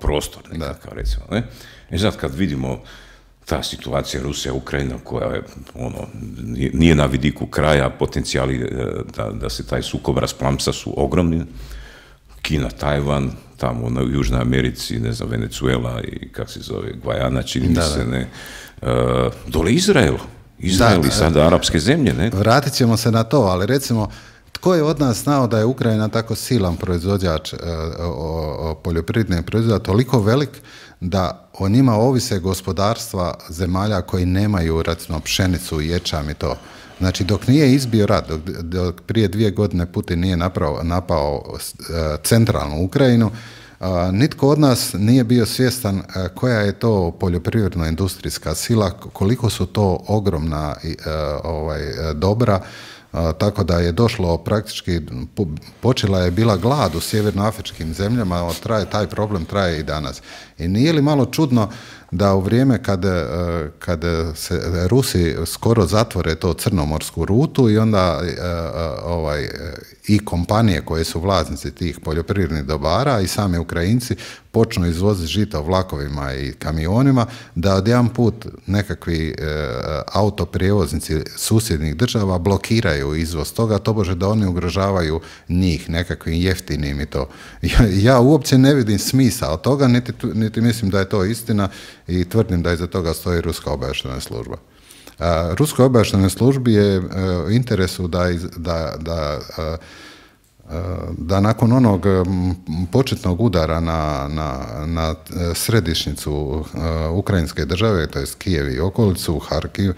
Prostor, nekakav, recimo. Ne? I sad kad vidimo ta situacija Rusija, Ukrajina, koja je, nije na vidiku kraja, potencijali da se taj sukob rasplamsa su ogromni. Kina, Tajvan, tamo u Južnoj Americi, ne znam, Venezuela i kako se zove, Gvajana, čini mi se, ne. Dole Izrael i sada arapske zemlje, ne? Vratit ćemo se na to, ali recimo, tko je od nas znao da je Ukrajina tako silan proizvođač poljoprivredne proizvoda, toliko velik da o njima ovise gospodarstva zemalja koji nemaju, recimo, pšenicu, ječam i to. Znači, dok nije izbio rat, dok prije 2 godine Putin nije napao centralnu Ukrajinu, nitko od nas nije bio svjestan koja je to poljoprivredno-industrijska sila, koliko su to ogromna dobra, tako da je došlo praktički, počela je bila glad u sjevernoafričkim zemljama, taj problem traje i danas. I nije li malo čudno da u vrijeme kad se Rusi skoro zatvore to crnomorsku rutu i onda i kompanije koje su vlasnici tih poljoprivrednih dobara i sami Ukrajinci počnu izvoziti žita vlakovima i kamionima, da odjedanput nekakvi autoprijevoznici susjednih država blokiraju izvoz toga, tobože da oni ugrožavaju njih nekakvim jeftinim i to. Ja uopće ne vidim smisao toga, niti mislim da je to istina i tvrdim da iza toga stoji ruska obavještajna služba. Ruskoj obavještajnoj službi je u interesu da nakon onog početnog udara na središnjicu ukrajinske države, to je Kijev i okolicu, Harkiv,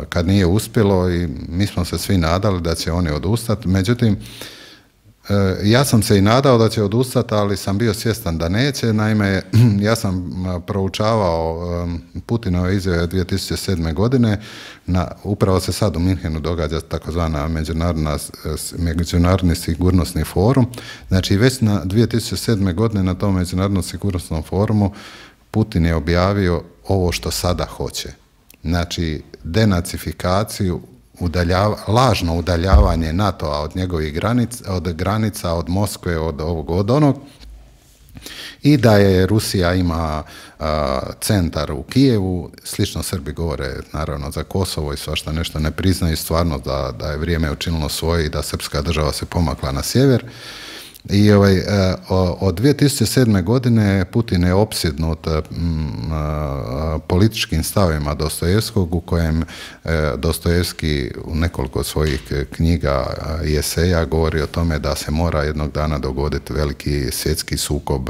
kad nije uspjelo i mi smo se svi nadali da će oni odustati, međutim, ja sam se i nadao da će odustati, ali sam bio svjestan da neće. Naime, ja sam proučavao Putinove izjave 2007. godine. Upravo se sad u Minhenu događa takozvana međunarodni sigurnosni forum. Znači, već na 2007. godine na tom međunarodnom sigurnosnom forumu Putin je objavio ovo što sada hoće. Znači, denacifikaciju, lažno udaljavanje NATO-a od njegovih granica, od Moskve, od ovog, od onog, i da je Rusija ima centar u Kijevu, slično Srbi govore naravno za Kosovo i svašta nešto ne priznaju, stvarno da je vrijeme učinilo svoje i da srpska država se pomakla na sjever. I od 2007. godine Putin je opsjednut političkim stavima Dostojevskog, u kojem Dostojevski u nekoliko svojih knjiga i eseja govori o tome da se mora jednog dana dogoditi veliki svjetski sukob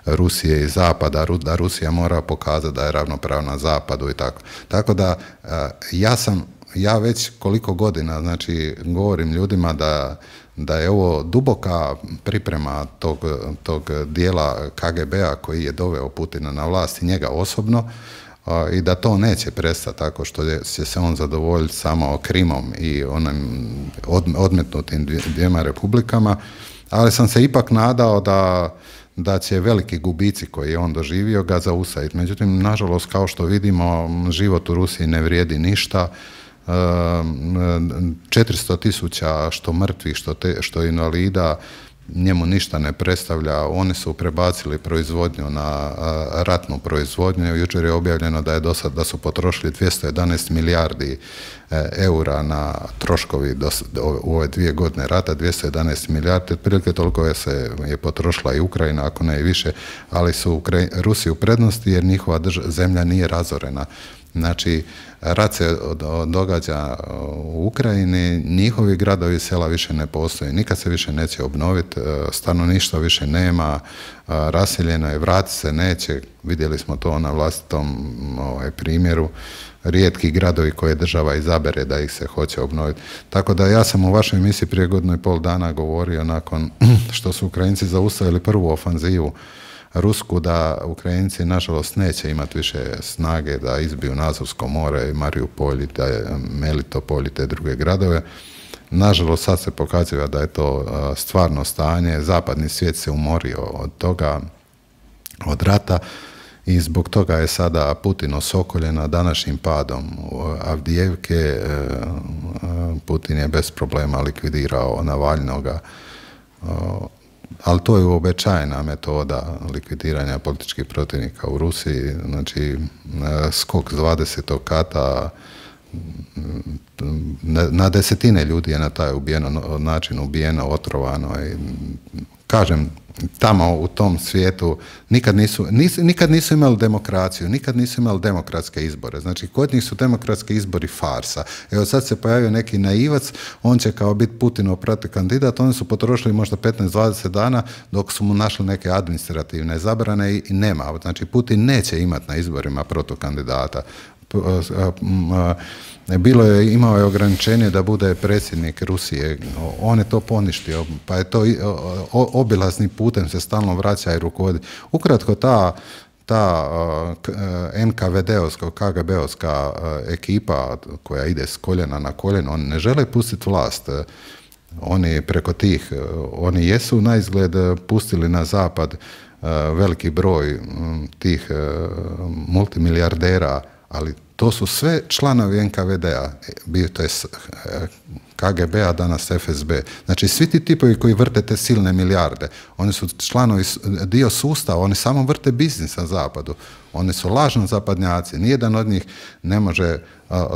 Rusije i Zapada, da Rusija mora pokazati da je ravnopravna Zapadu i tako. Tako da ja već koliko godina, znači, govorim ljudima da je ovo duboka priprema tog dijela KGB-a koji je doveo Putina na vlast i njega osobno, i da to neće prestati tako što će se on zadovoljiti samo Krimom i onim odmetnutim 2 republikama, ali sam se ipak nadao da će veliki gubici koje je on doživio ga zaustaviti. Međutim, nažalost, kao što vidimo, život u Rusiji ne vrijedi ništa. 400.000 što mrtvih, što invalida, njemu ništa ne predstavlja. Oni su prebacili proizvodnju na ratnu proizvodnju. Jučer je objavljeno da su potrošili 211 milijardi eura na troškovi u ove 2 godine rata, 211 milijardi, otprilike toliko je potrošila i Ukrajina, ako ne i više, ali su Rusi u prednosti jer njihova zemlja nije razorena. Znači, rat se događa u Ukrajini, njihovi gradovi i sela više ne postoje, nikad se više neće obnoviti, stanovništva više nema, raseljeno je, vrati se neće, vidjeli smo to na vlastitom primjeru, rijetki gradovi koje država izabere da ih se hoće obnoviti. Tako da ja sam u vašoj emisiji prije 1,5 godina govorio nakon što su Ukrajinci zaustavili prvu ofanzivu rusku, da Ukrajinci nažalost neće imati više snage da izbiju Azovsko more, Mariupolj, Melitopolj i te druge gradove. Nažalost, sad se pokazuje da je to stvarno stanje. Zapadni svijet se umorio od toga, od rata, i zbog toga je sada Putin osokoljen današnjim padom Avdijevke, Putin je bez problema likvidirao Navalnoga, ali to je uobičajena metoda likvidiranja političkih protivnika u Rusiji, znači skok s 20. kata, na desetine ljudi je na taj način ubijeno, otrovano i kažem, tamo u tom svijetu nikad nisu imali demokraciju, nikad nisu imali demokratske izbore. Znači, kod njih su demokratski izbori farsa. Evo sad se pojavio neki naivac, on će kao biti Putinov protukandidat, oni su potrošili možda 15-20 dana dok su mu našli neke administrativne zabrane i nema. Znači, Putin neće imati na izborima protukandidata. Imao je ograničenje da bude predsjednik Rusije, on je to poništio, pa je to obilaznim putem se stalno vraća i rukovodi. Ukratko, ta NKVD-ovska, KGB-ovska ekipa koja ide s koljena na koljeno, oni ne žele pustiti vlast. Oni preko tih, oni jesu na izgled pustili na zapad veliki broj tih multimilijardera, ali to su sve članovi NKVD-a, to je KGB-a, danas FSB. Znači, svi ti tipovi koji vrte te silne milijarde, oni su članovi, dio sustava, oni samo vrte biznis na zapadu. Oni su lažno zapadnjaci. Nijedan od njih ne može,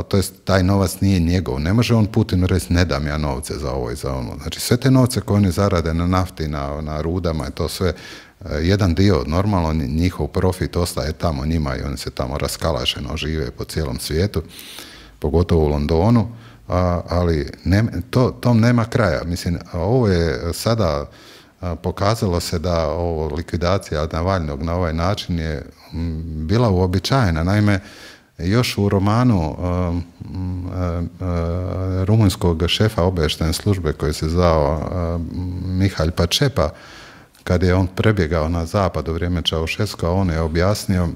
to jest taj novac nije njegov. Ne može on Putinu reći, ne dam ja novce za ovo i za ono. Znači, sve te novce koje oni zarade na nafti, na rudama, je to sve jedan dio, normalno njihov profit ostaje tamo njima i oni se tamo raskalašeno žive po cijelom svijetu, pogotovo u Londonu, ali tom nema kraja. Mislim, ovo je sada pokazalo se da ovo likvidacija Navalnog na ovaj način je bila uobičajena. Naime, još u romanu rumunjskog šefa obavještajne službe koji se zvao Mihalj Pačepa, kad je on prebjegao na zapad u vrijeme Čaušeska, on je objasnio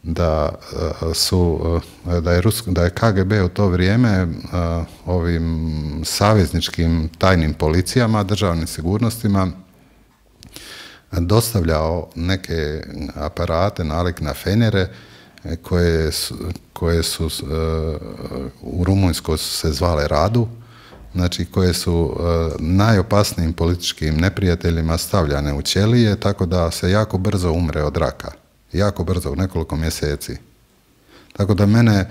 da je KGB u to vrijeme ovim savezničkim tajnim policijama, državnim sigurnostima dostavljao neke aparate nalik na fenjere koje su u Rumunjskoj se zvale Radu, znači koje su najopasnijim političkim neprijateljima stavljane u ćelije, tako da se jako brzo umre od raka. Jako brzo, u nekoliko mjeseci. Tako da mene,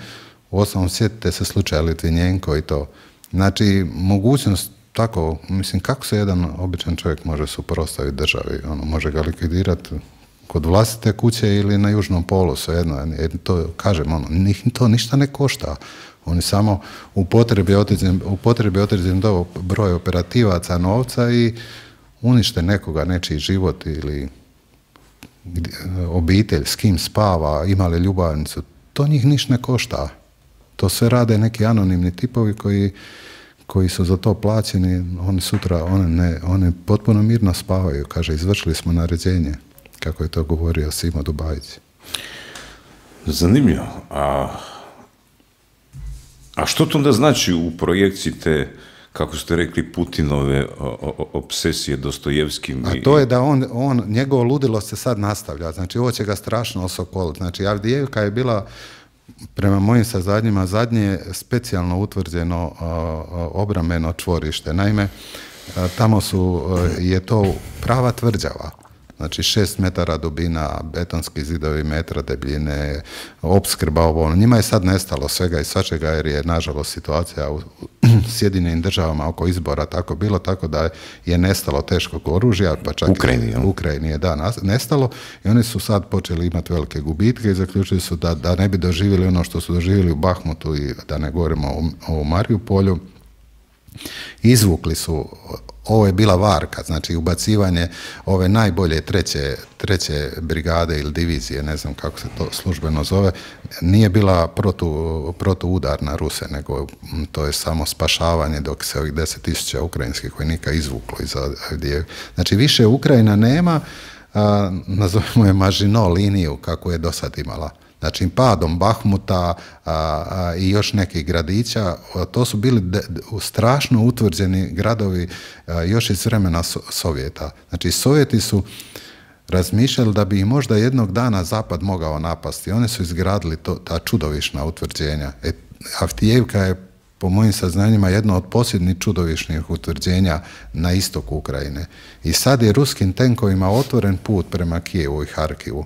u osnovom, sjetite se slučaja Litvinjenko i to. Znači, mogućnost tako, mislim, kako se jedan običan čovjek može suprotstaviti državi? Može ga likvidirati kod vlastite kuće ili na južnom polu, svejedno. Jer to, kažem, to ništa ne košta. Oni samo upotrebi određen broj operativaca novca i unište nekoga, nečiji život ili obitelj, s kim spava, ima li ljubavnicu. To njih ništa ne košta. To sve rade neki anonimni tipovi koji su za to plaćeni. Oni sutra, oni potpuno mirno spavaju. Kaže, izvršili smo naređenje, kako je to govorio Simo Dubajić. Zanimljivo. A što to onda znači u projekciji te, kako ste rekli, Putinove obsesije Dostojevskim? A to je da njegovo ludilo se sad nastavlja. Znači, ovo će ga strašno osokoliti. Znači, Avdijevka je bila, prema mojim saznanjima, zadnje specijalno utvrđeno obrambeno čvorište. Naime, tamo je to prava tvrđava. Znači 6 metara dubina, betonski zidovi metra debljine, opskrba ovo. Njima je sad nestalo svega i svačega jer je, nažalost, situacija u Sjedinjenim državama oko izbora tako bilo, tako da je nestalo teškog oružja, pa čak u Ukrajini je nestalo i oni su sad počeli imati velike gubitke i zaključili su da ne bi doživjeli ono što su doživjeli u Bahmutu i da ne govorimo o Mariupolju. Izvukli su, ovo je bila varka, znači ubacivanje ove najbolje treće brigade ili divizije, ne znam kako se to službeno zove, nije bila protuudar na Ruse, nego to je samo spašavanje dok se ovih 10.000 ukrajinskih vojnika izvuklo iz Avdijevke. Znači više Ukrajina nema, nazovemo je Mažino liniju kako je do sad imala. Znači, padom Bahmuta i još nekih gradića, to su bili strašno utvrđeni gradovi još iz vremena Sovjeta. Znači, Sovjeti su razmišljali da bi i možda jednog dana Zapad mogao napasti. Oni su izgradili ta čudovišna utvrđenja. Avdijevka je po mojim saznanjima, jedno od posljednjih čudovišnih utvrđenja na istoku Ukrajine. I sad je ruskim tenkovima otvoren put prema Kijevu i Harkivu.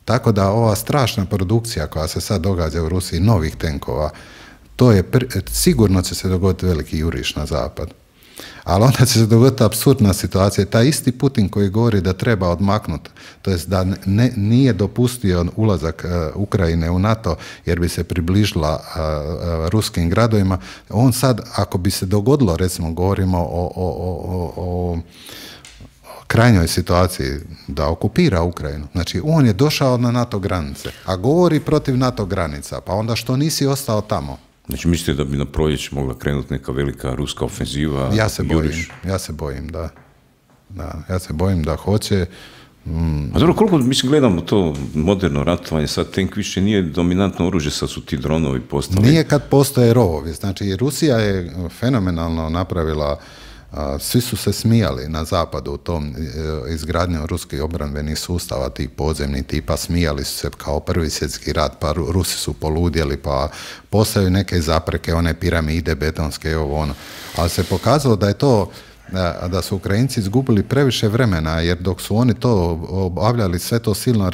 Tako da ova strašna produkcija koja se sad događa u Rusiji, novih tenkova, to je sigurno će se dogoditi veliki juriš na zapad. Ali onda će se dogoditi apsurdna situacija. Taj isti Putin koji govori da treba odmaknuti, to jest da nije dopustio ulazak Ukrajine u NATO jer bi se približila ruskim gradovima, on sad, ako bi se dogodilo, recimo govorimo o krajnjoj situaciji da okupira Ukrajinu. Znači, on je došao na NATO granice, a govori protiv NATO granica, pa onda što nisi ostao tamo? Znači, mislite da bi na proljeće mogla krenuti neka velika ruska ofenziva? Ja se bojim, da. Ja se bojim da hoće. A dobro, koliko, mislim, gledamo to moderno ratovanje, sad tank više nije dominantno oružje, sad su ti dronovi postali. Nije kad postoje rovovi. Znači, Rusija je fenomenalno napravila, svi su se smijali na zapadu u tom izgradnju ruskih obrambenih sustava, tih podzemnih tipa, smijali su se kao Prvi svjetski rat, pa Rusi su poludjeli, pa postavili neke zapreke, one piramide betonske, ovo ono. Ali se pokazalo da je to, da su Ukrajinci izgubili previše vremena, jer dok su oni to obavljali, sve to silno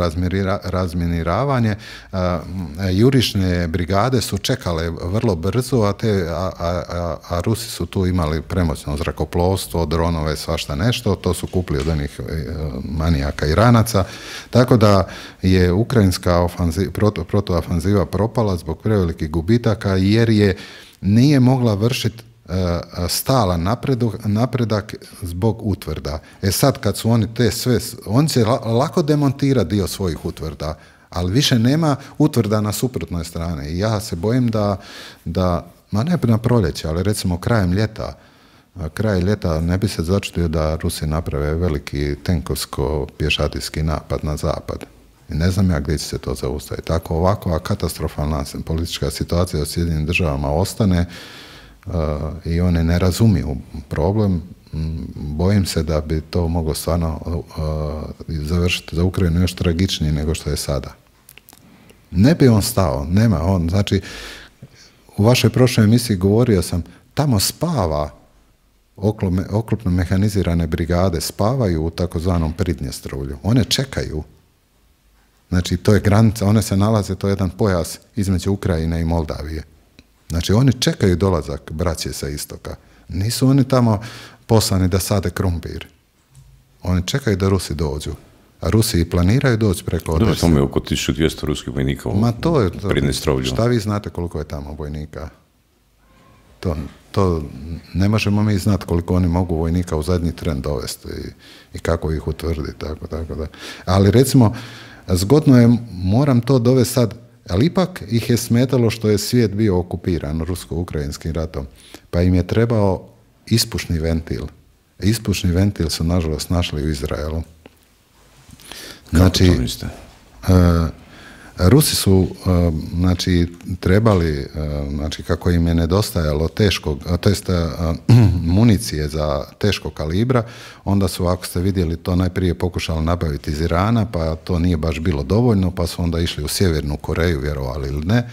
razminiravanje, jurišne brigade su čekale vrlo brzo, a Rusi su tu imali premoćno zrakoplovstvo, dronove, svašta nešto, to su kupili od onih manijaka Iranaca, tako da je ukrajinska protuofanziva propala zbog prevelikih gubitaka, jer nije mogla vršiti stalan napredak zbog utvrda. Sad kad su oni te sve, on će lako demontirati dio svojih utvrda, ali više nema utvrda na suprotnoj strani. I ja se bojim da ma ne na proljeće, ali recimo kraj ljeta ne bi se začutio da Rusi naprave veliki tenkovsko-pješadijski napad na zapad. I ne znam ja gdje će se to zaustaviti. Tako ovakva katastrofalna politička situacija u Sjedinjenim državama ostane, i one ne razumiju problem, bojim se da bi to moglo stvarno završiti za Ukrajinu još tragičnije nego što je sada. Ne bi on stao, nema on, znači u vašoj prošloj emisiji govorio sam, tamo spava oklopno mehanizirane brigade, spavaju u takozvanom Pridnjestrovlju, one čekaju. Znači to je granica, one se nalaze, to je jedan pojas između Ukrajine i Moldavije. Znači, oni čekaju dolazak braće sa istoka. Nisu oni tamo poslani da sade krumpir. Oni čekaju da Rusi dođu. A Rusi i planiraju doći preko Odese. Dobro, tamo je oko 1200 ruskih vojnika u Pridnjestrovlju. Šta vi znate koliko je tamo vojnika? To ne možemo mi znati koliko oni mogu vojnika u zadnji tren dovesti i kako ih utvrditi. Tako da. Ali recimo, zgodno je, moram to dovesti sad, ali ipak ih je smetalo što je svijet bio okupiran rusko-ukrajinskim ratom, pa im je trebao ispušni ventil. Ispušni ventil su nažalost našli u Izraelu. Znači, Rusi su trebali, kako im je nedostajalo municije za teškog kalibra, onda su, ako ste vidjeli, to najprije pokušali nabaviti iz Irana, pa to nije baš bilo dovoljno, pa su onda išli u Sjevernu Koreju, vjerovali ili ne.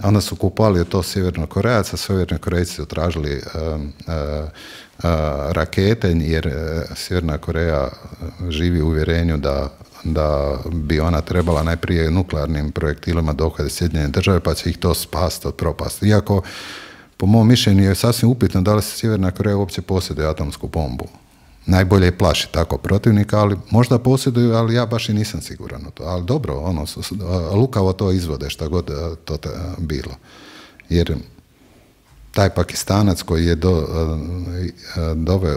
Onda su kupovali to Sjeverno Korejaca, Sjeverni Korejci su tražili rakete, jer Sjeverna Koreja živi u uvjerenju da bi ona trebala najprije nuklearnim projektilima dohvatiti Sjedinjene države, pa će ih to spasti od propasti. Iako, po mom mišljenju, je sasvim upitno da li se Sjeverna Koreja uopće posjeduje atomsku bombu. Najbolje je plaši tako protivnika, ali možda posjeduju, ali ja baš i nisam siguran u to. Ali dobro, lukavo to izvode, šta god to bilo. Jer taj Pakistanac koji je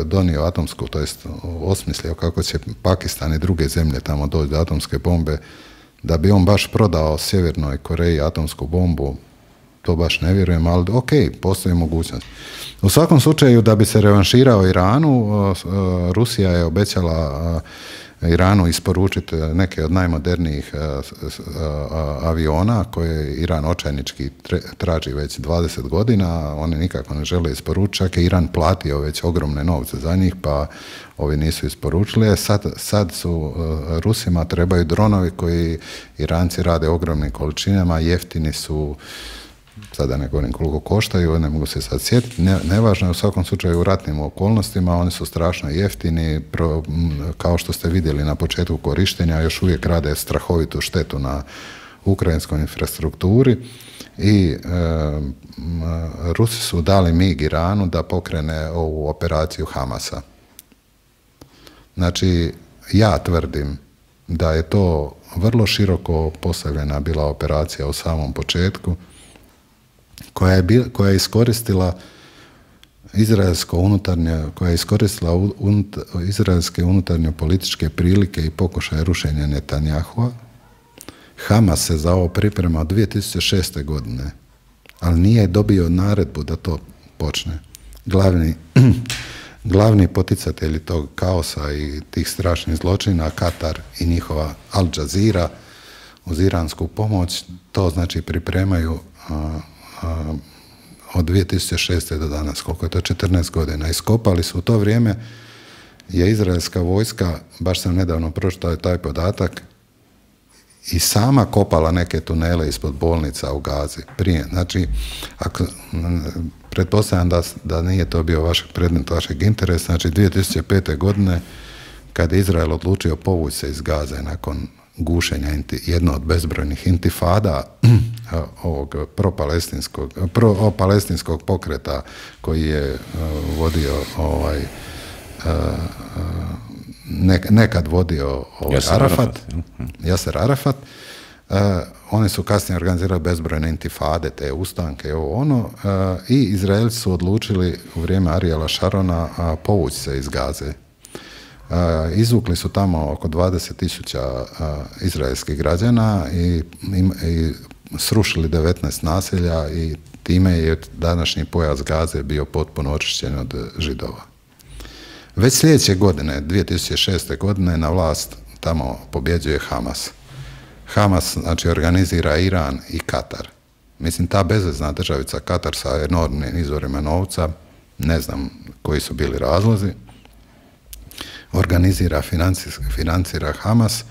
donio atomsku, to jest osmislio kako će Pakistan i druge zemlje tamo doći do atomske bombe, da bi on baš prodao Sjevernoj Koreji atomsku bombu, to baš ne vjerujem, ali ok, postoji mogućnost. U svakom slučaju, da bi se revanširao Iranu, Rusija je obećala Iranu isporučiti neke od najmodernijih aviona koje Iran očajnički traži već 20 godina, oni nikako ne žele isporučiti, čak je Iran platio već ogromne novce za njih, pa ovi nisu isporučili. Sad su Rusima trebaju dronovi koji Iranci rade ogromnim količinama, jeftini su, sada ne govorim koliko koštaju, ne mogu se sad sjetiti, nevažno je, u svakom slučaju u ratnim okolnostima, oni su strašno jeftini, kao što ste vidjeli na početku korištenja, još uvijek rade strahovitu štetu na ukrajinskoj infrastrukturi i Rusi su dali mig Iranu da pokrene ovu operaciju Hamasa. Znači, ja tvrdim da je to vrlo široko postavljena bila operacija u samom početku, koja je iskoristila izraelske unutarnje političke prilike i pokušaje rušenja Netanjahua. Hamas se za ovo priprema od 2006. godine, ali nije dobio naredbu da to počne. Glavni poticatelji tog kaosa i tih strašnih zločina, Katar i njihova Al Jazeera uz iransku pomoć, to znači pripremaju od 2006. do danas, koliko je to 14 godina. Iskopali su u to vrijeme, je izraelska vojska, baš sam nedavno pročitao taj podatak, i sama kopala neke tunele ispod bolnica u Gazi prije. Znači, pretpostavljam da nije to bio predmet vašeg interesa, znači 2005. godine kad je Izrael odlučio povući se iz Gaze nakon gušenja jedno od bezbrojnih intifada ovog pro-palestinskog pokreta koji je vodio nekad vodio Jaser Arafat. Oni su kasnije organizirali bezbrojne intifade, te ustanke, i Izraelci su odlučili u vrijeme Ariela Šarona povući se iz Gaze. Izvukli su tamo oko 20.000 izraelskih građana i srušili 19 naselja i time je današnji pojas Gaze bio potpuno očišćen od Židova. Već sljedeće godine, 2006. godine, na vlast tamo pobjeđuje Hamas. Hamas, znači, organizira Iran i Katar. Mislim, ta bezvezna državica Katar sa enormnim izvorima novca, ne znam koji su bili razlozi, organizira, financira Hamas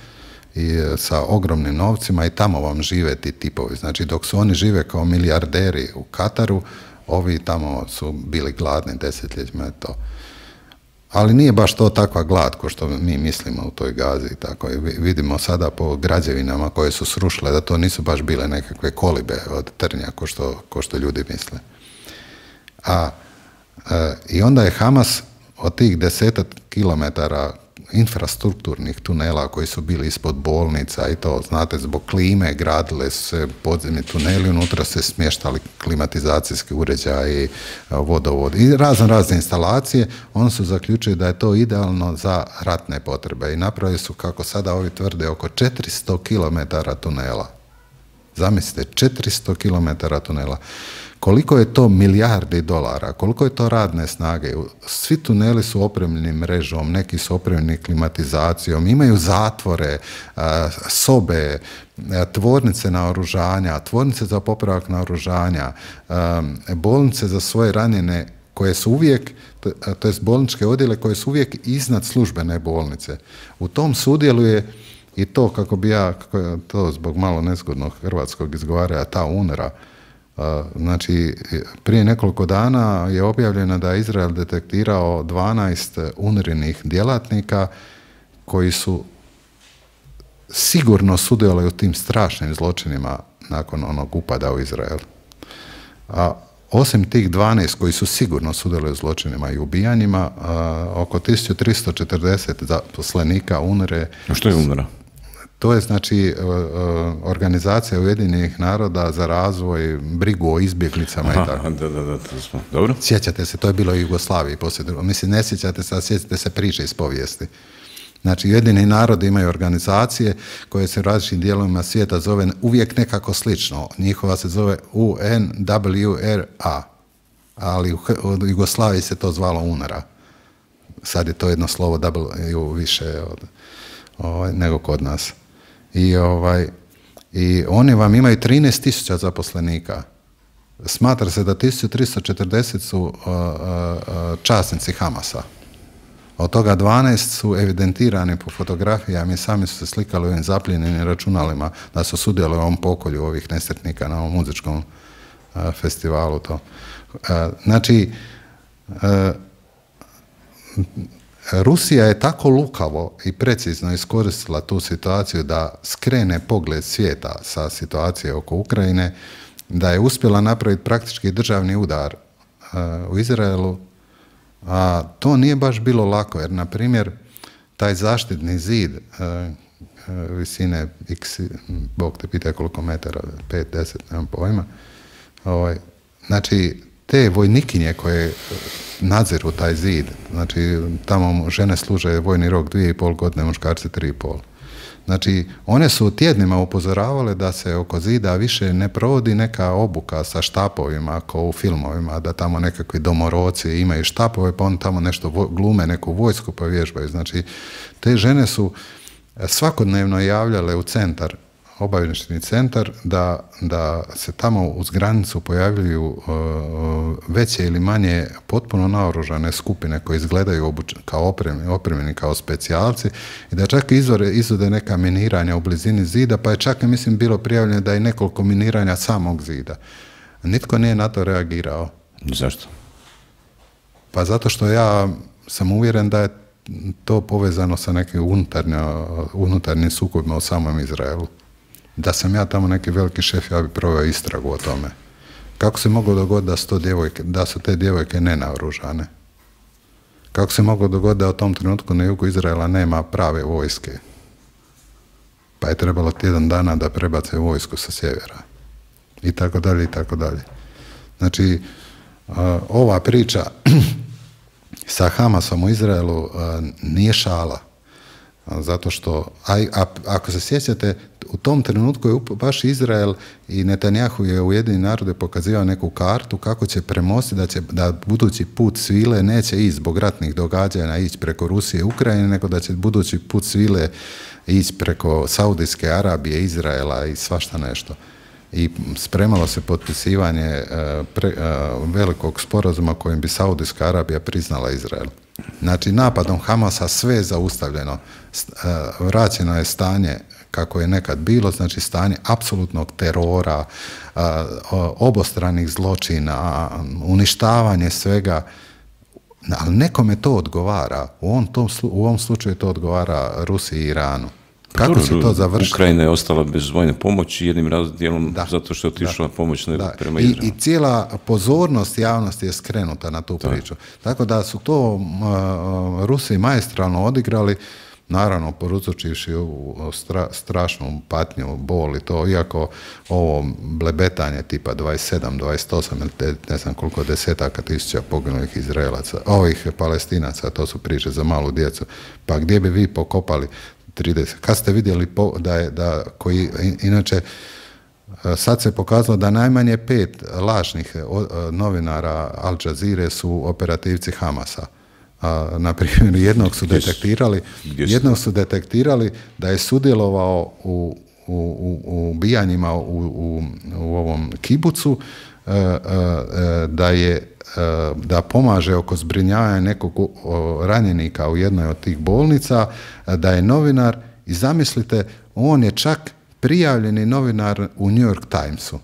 i sa ogromnim novcima i tamo vam žive ti tipovi. Znači, dok su oni žive kao milijarderi u Kataru, ovi tamo su bili gladni desetljećima, to. Ali nije baš to takva glad ko što mi mislimo u toj Gazi. Tako. Vidimo sada po građevinama koje su srušile da to nisu baš bile nekakve kolibe od trnja ko što ljudi misle. I onda je Hamas od tih 10 kilometara infrastrukturnih tunela koji su bili ispod bolnica i to, znate, zbog klime gradile su se podzemni tuneli, unutra se smještali klimatizacijski uređaji, vodovod i razne instalacije. Oni su zaključili da je to idealno za ratne potrebe i napravili su, kako sada ovi tvrde, oko 400 km tunela. Zamislite, 400 km tunela. Koliko je to milijardi dolara, koliko je to radne snage. Svi tuneli su opremljeni mrežom, neki su opremljeni klimatizacijom, imaju zatvore, sobe, tvornice naoružanja, tvornice za popravak naoružanja, bolnice za svoje ranjene koje su uvijek, to jest bolničke odjele koje su uvijek iznad službene bolnice. U tom sudjeluje i to, kako bi ja, to zbog malo nezgodnog hrvatskog izgovaranja, ta UNRWA. Znači, prije nekoliko dana je objavljeno da je Izrael detektirao 12 UNRWA-nih djelatnika koji su sigurno sudjelovali u tim strašnim zločinima nakon onog upada u Izrael. A osim tih 12 koji su sigurno sudjelovali u zločinima i ubijanjima, oko 1340 zaposlenika UNRWA. A što je UNRWA? To je, znači, organizacija Ujedinjenih naroda za razvoj, brigu o izbjeglicama i tako. Da, to smo. Dobro. Sjećate se, to je bilo u Jugoslaviji poslije drugog. Mislim, ne sjećate se, a sjećate se priče iz povijesti. Znači, Ujedinjeni narodi imaju organizacije koje se u različitim dijelovima svijeta zove uvijek nekako slično. Njihova se zove UNWRA, ali u Jugoslaviji se to zvalo UNRWA. Sad je to jedno slovo W više nego kod nas. I oni vam imaju 13.000 zaposlenika. Smatra se da 1340 su časnici Hamasa. Od toga 12 su evidentirani po fotografijama i sami su se slikali u ovim zapljenjenim računalima da su sudjelovali u ovom pokolju ovih nesretnika na ovom muzičkom festivalu to. Znači, Rusija je tako lukavo i precizno iskoristila tu situaciju da skrene pogled svijeta sa situacije oko Ukrajine, da je uspjela napraviti praktički državni udar u Izraelu, a to nije baš bilo lako, jer, na primjer, taj zaštitni zid visine x, Bog te pita koliko metara, 5, 10, nemam pojma, znači, te vojnikinje koje nadziru taj zid, znači tamo žene služe vojni rok 2,5 godine, muškarci 3,5. Znači, one su tjednima upozoravale da se oko zida više ne provodi neka obuka sa štapovima kao u filmovima, da tamo nekakvi domoroci imaju štapove, pa on tamo nešto glume, neku vojsku pa vježbaju. Znači, te žene su svakodnevno javljale u centar, obavještajni centar, da se tamo uz granicu pojavljuju veće ili manje potpuno naoružane skupine koje izgledaju kao opremljeni kao specijalci i da čak izvode neka miniranja u blizini zida, pa je čak, mislim, bilo prijavljeno da je nekoliko miniranja samog zida. Nitko nije na to reagirao. Zašto? Pa zato što ja sam uvjeren da je to povezano sa nekim unutarnjim sukobima u samom Izraelu. Da sam ja tamo neki veliki šef, ja bi proveo istragu o tome. Kako se moglo dogoditi da su te djevojke nenaoružane? Kako se moglo dogoditi da u tom trenutku na jugu Izraela nema prave vojske? Pa je trebalo tjedan dana da prebace vojsku sa sjevera. I tako dalje, i tako dalje. Znači, ova priča sa Hamasom u Izraelu nije šala. Zato što, ako se sjećate, u tom trenutku je baš Izrael i Netanjahu je Ujedinjeni narodi pokazivao neku kartu kako će premostiti da budući put svile neće ići zbog ratnih događanja ići preko Rusije i Ukrajine, nego da će budući put svile ići preko Saudijske Arabije, Izraela i svašta nešto. I spremalo se potpisivanje velikog sporazuma kojim bi Saudijska Arabija priznala Izrael. Znači, napadom Hamasa sve je zaustavljeno. Vraćeno je stanje kako je nekad bilo, znači stanje apsolutnog terora, obostranih zločina, uništavanje svega, ali nekome to odgovara. U ovom slučaju to odgovara Rusiji i Iranu. Kako će to završiti? Ukrajina je ostala bez vojne pomoći jednim dijelom zato što je otišla pomoć prema Izraelu. I cijela pozornost javnosti je skrenuta na tu priču. Tako da su to Rusi maestralno odigrali, naravno poručivši strašnu patnju, bol i to, iako ovo blebetanje tipa 27, 28, ne znam koliko desetaka tisuća poginulih Izraelaca, ovih Palestinaca, to su priče za malu djecu, pa gdje bi vi pokopali 30. Kad ste vidjeli koji, inače, sad se pokazalo da najmanje 5 lažnih novinara Al Jazeere su operativci Hamasa. Na primjer, jednog su detektirali da je sudjelovao u ubijanjima u ovom kibucu, da pomaže oko zbrinjavanja nekog ranjenika u jednoj od tih bolnica, da je novinar i zamislite, on je čak prijavljeni novinar u New York Timesu.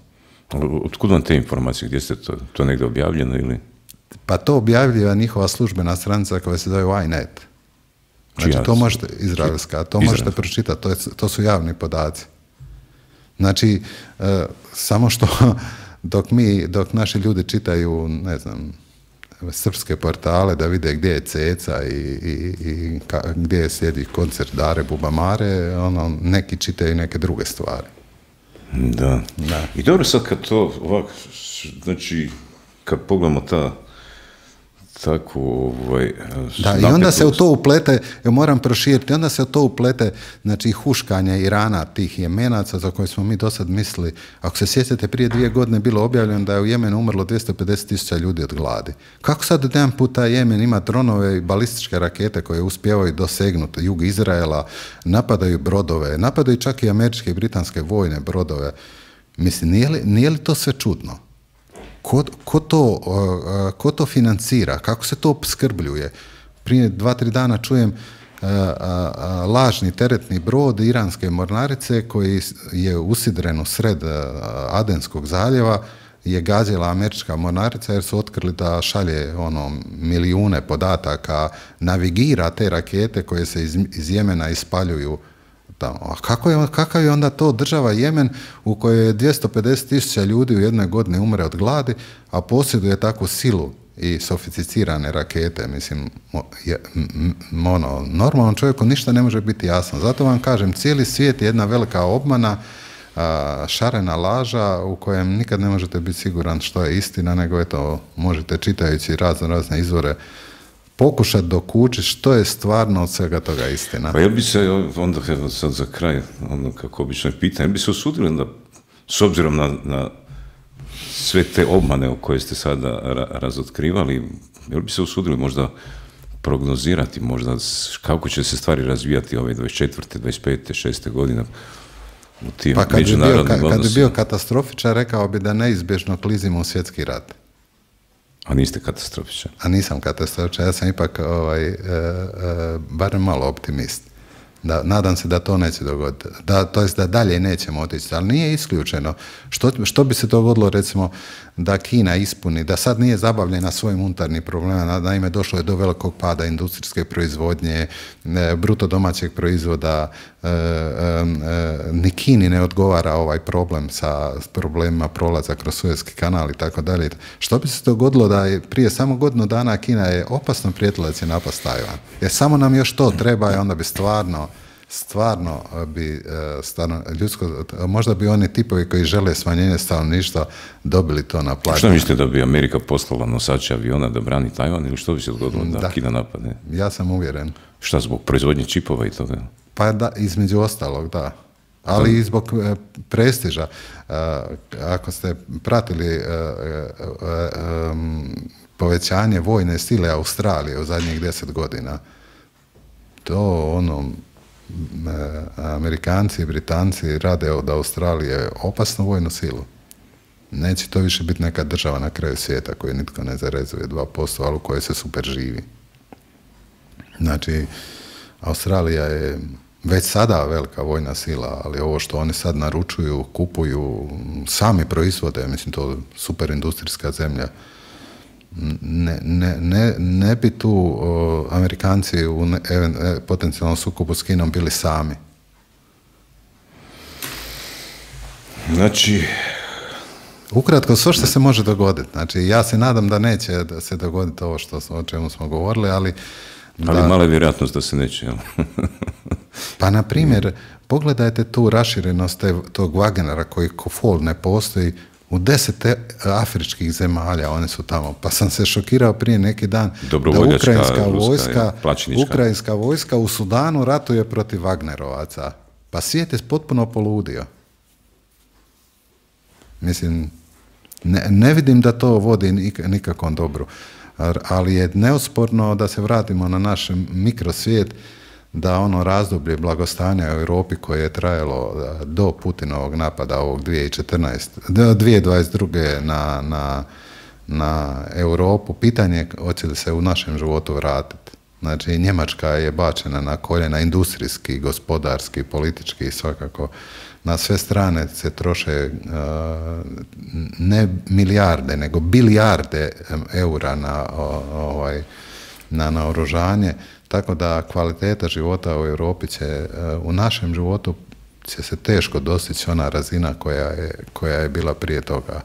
Otkud vam te informacije? Gdje ste to negdje objavljeno ili? Pa to objavljiva njihova službena stranica koja se zove Ynet. Znači, to možete, izraelska, to možete pročitati, to su javni podaci. Znači, samo što dok naši ljudi čitaju, ne znam, srpske portale da vide gdje je Ceca i gdje sjedi koncert Dare Bubamare, neki čitaju neke druge stvari. Da. I dobro, sad kad to ovako, znači, kad pogledamo tako da, i onda se u to uplete, moram proširiti, onda se u to uplete, znači, huškanje Irana, tih Jemenaca za koje smo mi do sad mislili. Ako se sjećate, prije 2 godine bilo objavljeno da je u Jemenu umrlo 250.000 ljudi od gladi. Kako sad jedan puta Jemen ima dronove i balističke rakete koje uspijevaju dosegnuti jug Izraela, napadaju brodove, napadaju čak i američke i britanske vojne brodove. Mislim, nije li to sve čudno? Ko to financira? Kako se to opskrbljuje? Prije 2-3 dana čujem lažni teretni brod iranske mornarice koji je usidren u sred Adenskog zaljeva, je gazila američka mornarica jer su otkrili da šalje milijune podataka, navigira te rakete koje se iz Jemena ispaljuju tamo. A kakav je onda to država Jemen u kojoj je 250.000 ljudi u jednoj godini umre od gladi, a posjeduje takvu silu i sofisticirane rakete? Mislim, normalnom čovjeku ništa ne može biti jasno. Zato vam kažem, cijeli svijet je jedna velika obmana, šarena laža u kojem nikad ne možete biti siguran što je istina, nego eto, možete čitajući razne izvore pokušati dokučiti što je stvarno od svega toga istina. Pa jel bi se onda, sad za kraj, kako obično je pitanje, jel bi se usudili onda, s obzirom na sve te obmane o koje ste sada razotkrivali, jel bi se usudili možda prognozirati možda kako će se stvari razvijati ove 24., 25., 6. godine u tim međunarodnim odnosima? Kad bi bio katastrofičar, rekao bi da neizbježno klizimo u svjetski rat. A niste katastrofičar? A nisam katastrofičar, ja sam ipak barem malo optimist. Nadam se da to neće dogoditi. To jest da dalje nećemo otići, ali nije isključeno. Što bi se dogodilo, recimo, da Kina ispuni, da sad nije zabavljena svojim unutarnjim problemima, naime došlo je do velikog pada industrijske proizvodnje, bruto domaćeg proizvoda, ni Kini ne odgovara ovaj problem sa problemima prolaza kroz Suezki kanal i tako dalje. Što bi se dogodilo da je prije samo godinu dana Kina je opasno prijetila da će napast Tajvan? Jer samo nam još to treba i onda bi stvarno bi ljudsko, možda bi oni tipovi koji žele smanjenje stanovništva dobili to na plaću. Što mislite, da bi Amerika poslala nosače aviona da brani Tajvan, ili što bi se dogodilo da Kina napadne? Ja sam uvjeren. Šta, zbog proizvodnje čipova i toga? Pa da, između ostalog, da. Ali i zbog prestiža. Ako ste pratili povećanje vojne sile Australije u zadnjih 10 godina, to Amerikanci i Britanci rade od Australije opasnu vojnu silu. Neće to više biti neka država na kraju svijeta koju nitko ne zarezuje 2%, ali u kojoj se super živi. Znači, Australija je već sada velika vojna sila, ali ovo što oni sad naručuju, kupuju, sami proizvode, mislim, to super industrijska zemlja. Ne bi tu Amerikanci u potencijalnom sukobu s Kinom bili sami. Znači, ukratko, sve što se može dogoditi. Znači, ja se nadam da neće da se dogoditi ovo o čemu smo govorili, ali mala je vjerojatnost da se neće, jel? Pa, na primjer, pogledajte tu raširenost tog Wagnera koji ko fol ne postoji u 10 afričkih zemalja, one su tamo. Pa sam se šokirao prije neki dan da ukrajinska vojska u Sudanu ratuje protiv Wagnerovaca. Pa svijet je potpuno poludio. Mislim, ne vidim da to vodi nikakvom dobru. Ali je neosporno da se vratimo na naš mikrosvijet, da ono razdoblje blagostanja u Europi koje je trajalo do Putinovog napada ovog 2022. na Europu, pitanje hoće li se u našem životu vratiti. Znači, Njemačka je bačena na koljena industrijski, gospodarski, politički, svakako. Na sve strane se troše ne milijarde, nego bilijarde eura na naoružanje. Tako da kvaliteta života u Europi će, u našem životu će se teško dostići ona razina koja je bila prije toga.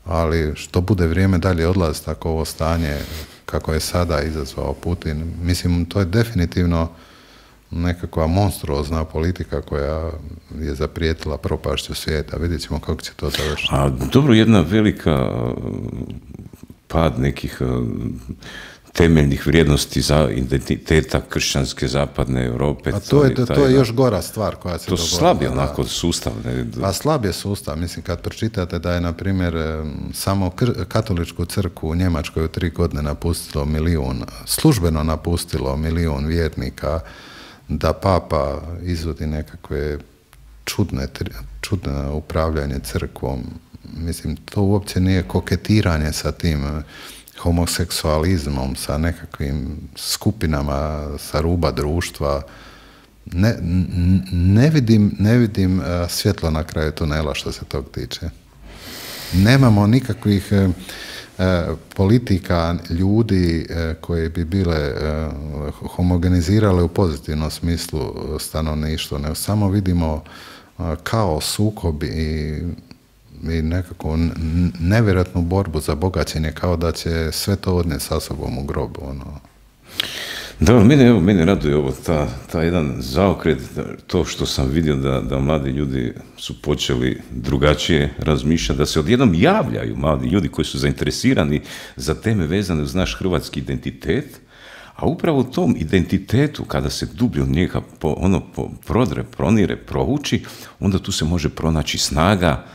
Ali što bude vrijeme dalje odlazi, tako ovo stanje kako je sada izazvao Putin, mislim, to je definitivno nekakva monstruozna politika koja je zaprijetila propašću svijeta. Vidjet ćemo kako će to završiti. A dobro, jedna velika pad nekih temeljnih vrijednosti za identiteta kršćanske zapadne Europe. A to je još gora stvar koja se dogodila. To slab je onako sustav. Pa slab je sustav. Mislim, kad pročitate da je, na primjer, samo katoličku crkvu u Njemačkoj u 3 godine napustilo 1 milijun, službeno napustilo 1 milijun vjernika, da papa izvodi nekakve čudne upravljanje crkvom. Mislim, to uopće nije koketiranje sa tim homoseksualizmom, sa nekakvim skupinama sa ruba društva. Ne vidim svjetlo na kraju tunela što se tog tiče. nemamo nikakvih politika ljudi koje bi bile homogenizirale u pozitivnom smislu stanovništvo, nego samo vidimo kao sukob i nekako nevjerojatnu borbu za bogaćenje, kao da će sve to odnijeti sa sobom u grobu. Da, mene raduje ovo, ta jedan zaokret, to što sam vidio da mladi ljudi su počeli drugačije razmišljati, da se odjednom javljaju mladi ljudi koji su zainteresirani za teme vezane uz naš hrvatski identitet, a upravo u tom identitetu, kada se dublje od njega prodre, pronire, prouči, onda tu se može pronaći snaga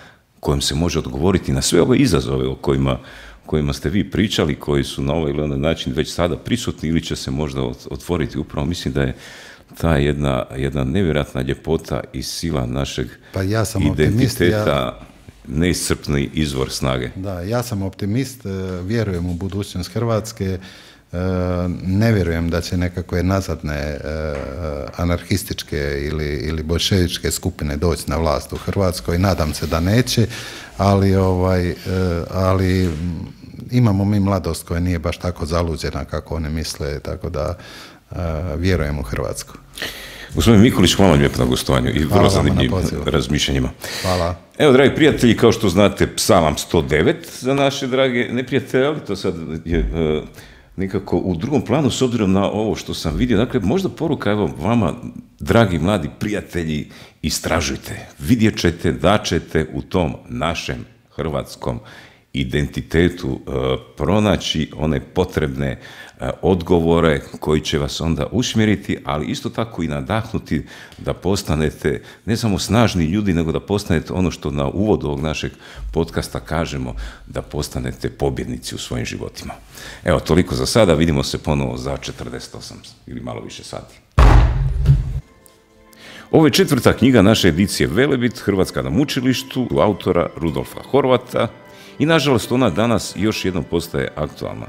kojom se može odgovoriti na sve ove izazove o kojima ste vi pričali, koji su na ovaj ili onaj način već sada prisutni ili će se možda otvoriti. Upravo mislim da je ta jedna nevjerojatna ljepota i sila našeg identiteta neiscrpni izvor snage. Da, ja sam optimist, vjerujem u budućnost Hrvatske, ne vjerujem da će nekakve nazadne anarhističke ili boljševičke skupine doći na vlast u Hrvatskoj, nadam se da neće, ali imamo mi mladost koja nije baš tako zaluđena kako oni misle, tako da vjerujem u Hrvatsku. Gospodin Mikulić, hvala vam lijepo na gostovanju i vrlo zanimljivim razmišljanjima. Hvala. Evo, dragi prijatelji, kao što znate, Psalam 109 za naše drage neprijatelje, ali to sad je nekako u drugom planu s obzirom na ovo što sam vidio. Dakle, možda poruka, evo, vama, dragi mladi prijatelji, istražujte, vidjet ćete da ćete u tom našem hrvatskom identitetu pronaći one potrebne odgovore koji će vas onda usmjeriti, ali isto tako i nadahnuti da postanete ne samo snažni ljudi, nego da postanete ono što na uvodu ovog našeg podcasta kažemo, da postanete pobjednici u svojim životima. Evo, toliko za sada, vidimo se ponovo za 48 ili malo više sati. Ovo je 4. knjiga naše edicije Velebit, Hrvatska na mučilištu, autora Rudolfa Horvata, i nažalost ona danas još jednom postaje aktualna.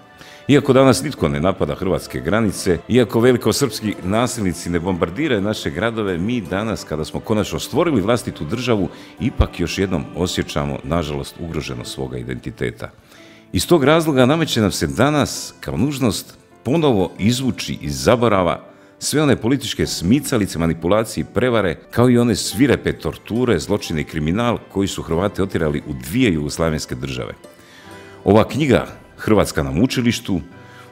Iako danas nitko ne napada hrvatske granice, iako velikosrpski nasilnici ne bombardiraju naše gradove, mi danas, kada smo konačno stvorili vlastitu državu, ipak još jednom osjećamo, nažalost, ugroženost svoga identiteta. Iz tog razloga nameće nam se danas kao nužnost ponovo izvući iz zaborava sve one političke smicalice, manipulacije i prevare, kao i one svirepe torture, zločine i kriminal koji su Hrvate otjerali u 2 jugoslavenske države. Ova knjiga, Hrvatska na mučilištu,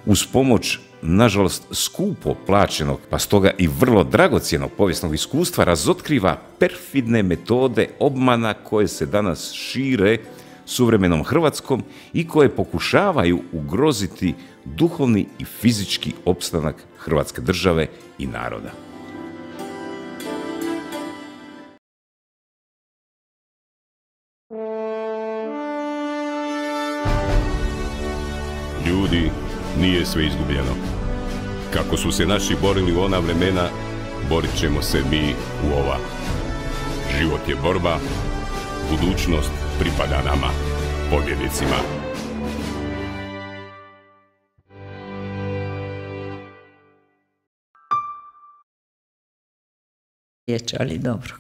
uz pomoć, nažalost, skupo plaćenog, pa stoga i vrlo dragocjenog povijesnog iskustva, razotkriva perfidne metode obmana koje se danas šire suvremenom Hrvatskom i koje pokušavaju ugroziti duhovni i fizički opstanak Hrvatske države i naroda. Ljudi, nije sve izgubljeno. Kako su se naši borili u ona vremena, borit ćemo se mi u ova. Život je borba, budućnost pripada nama, pobjednicima. Ali dobro.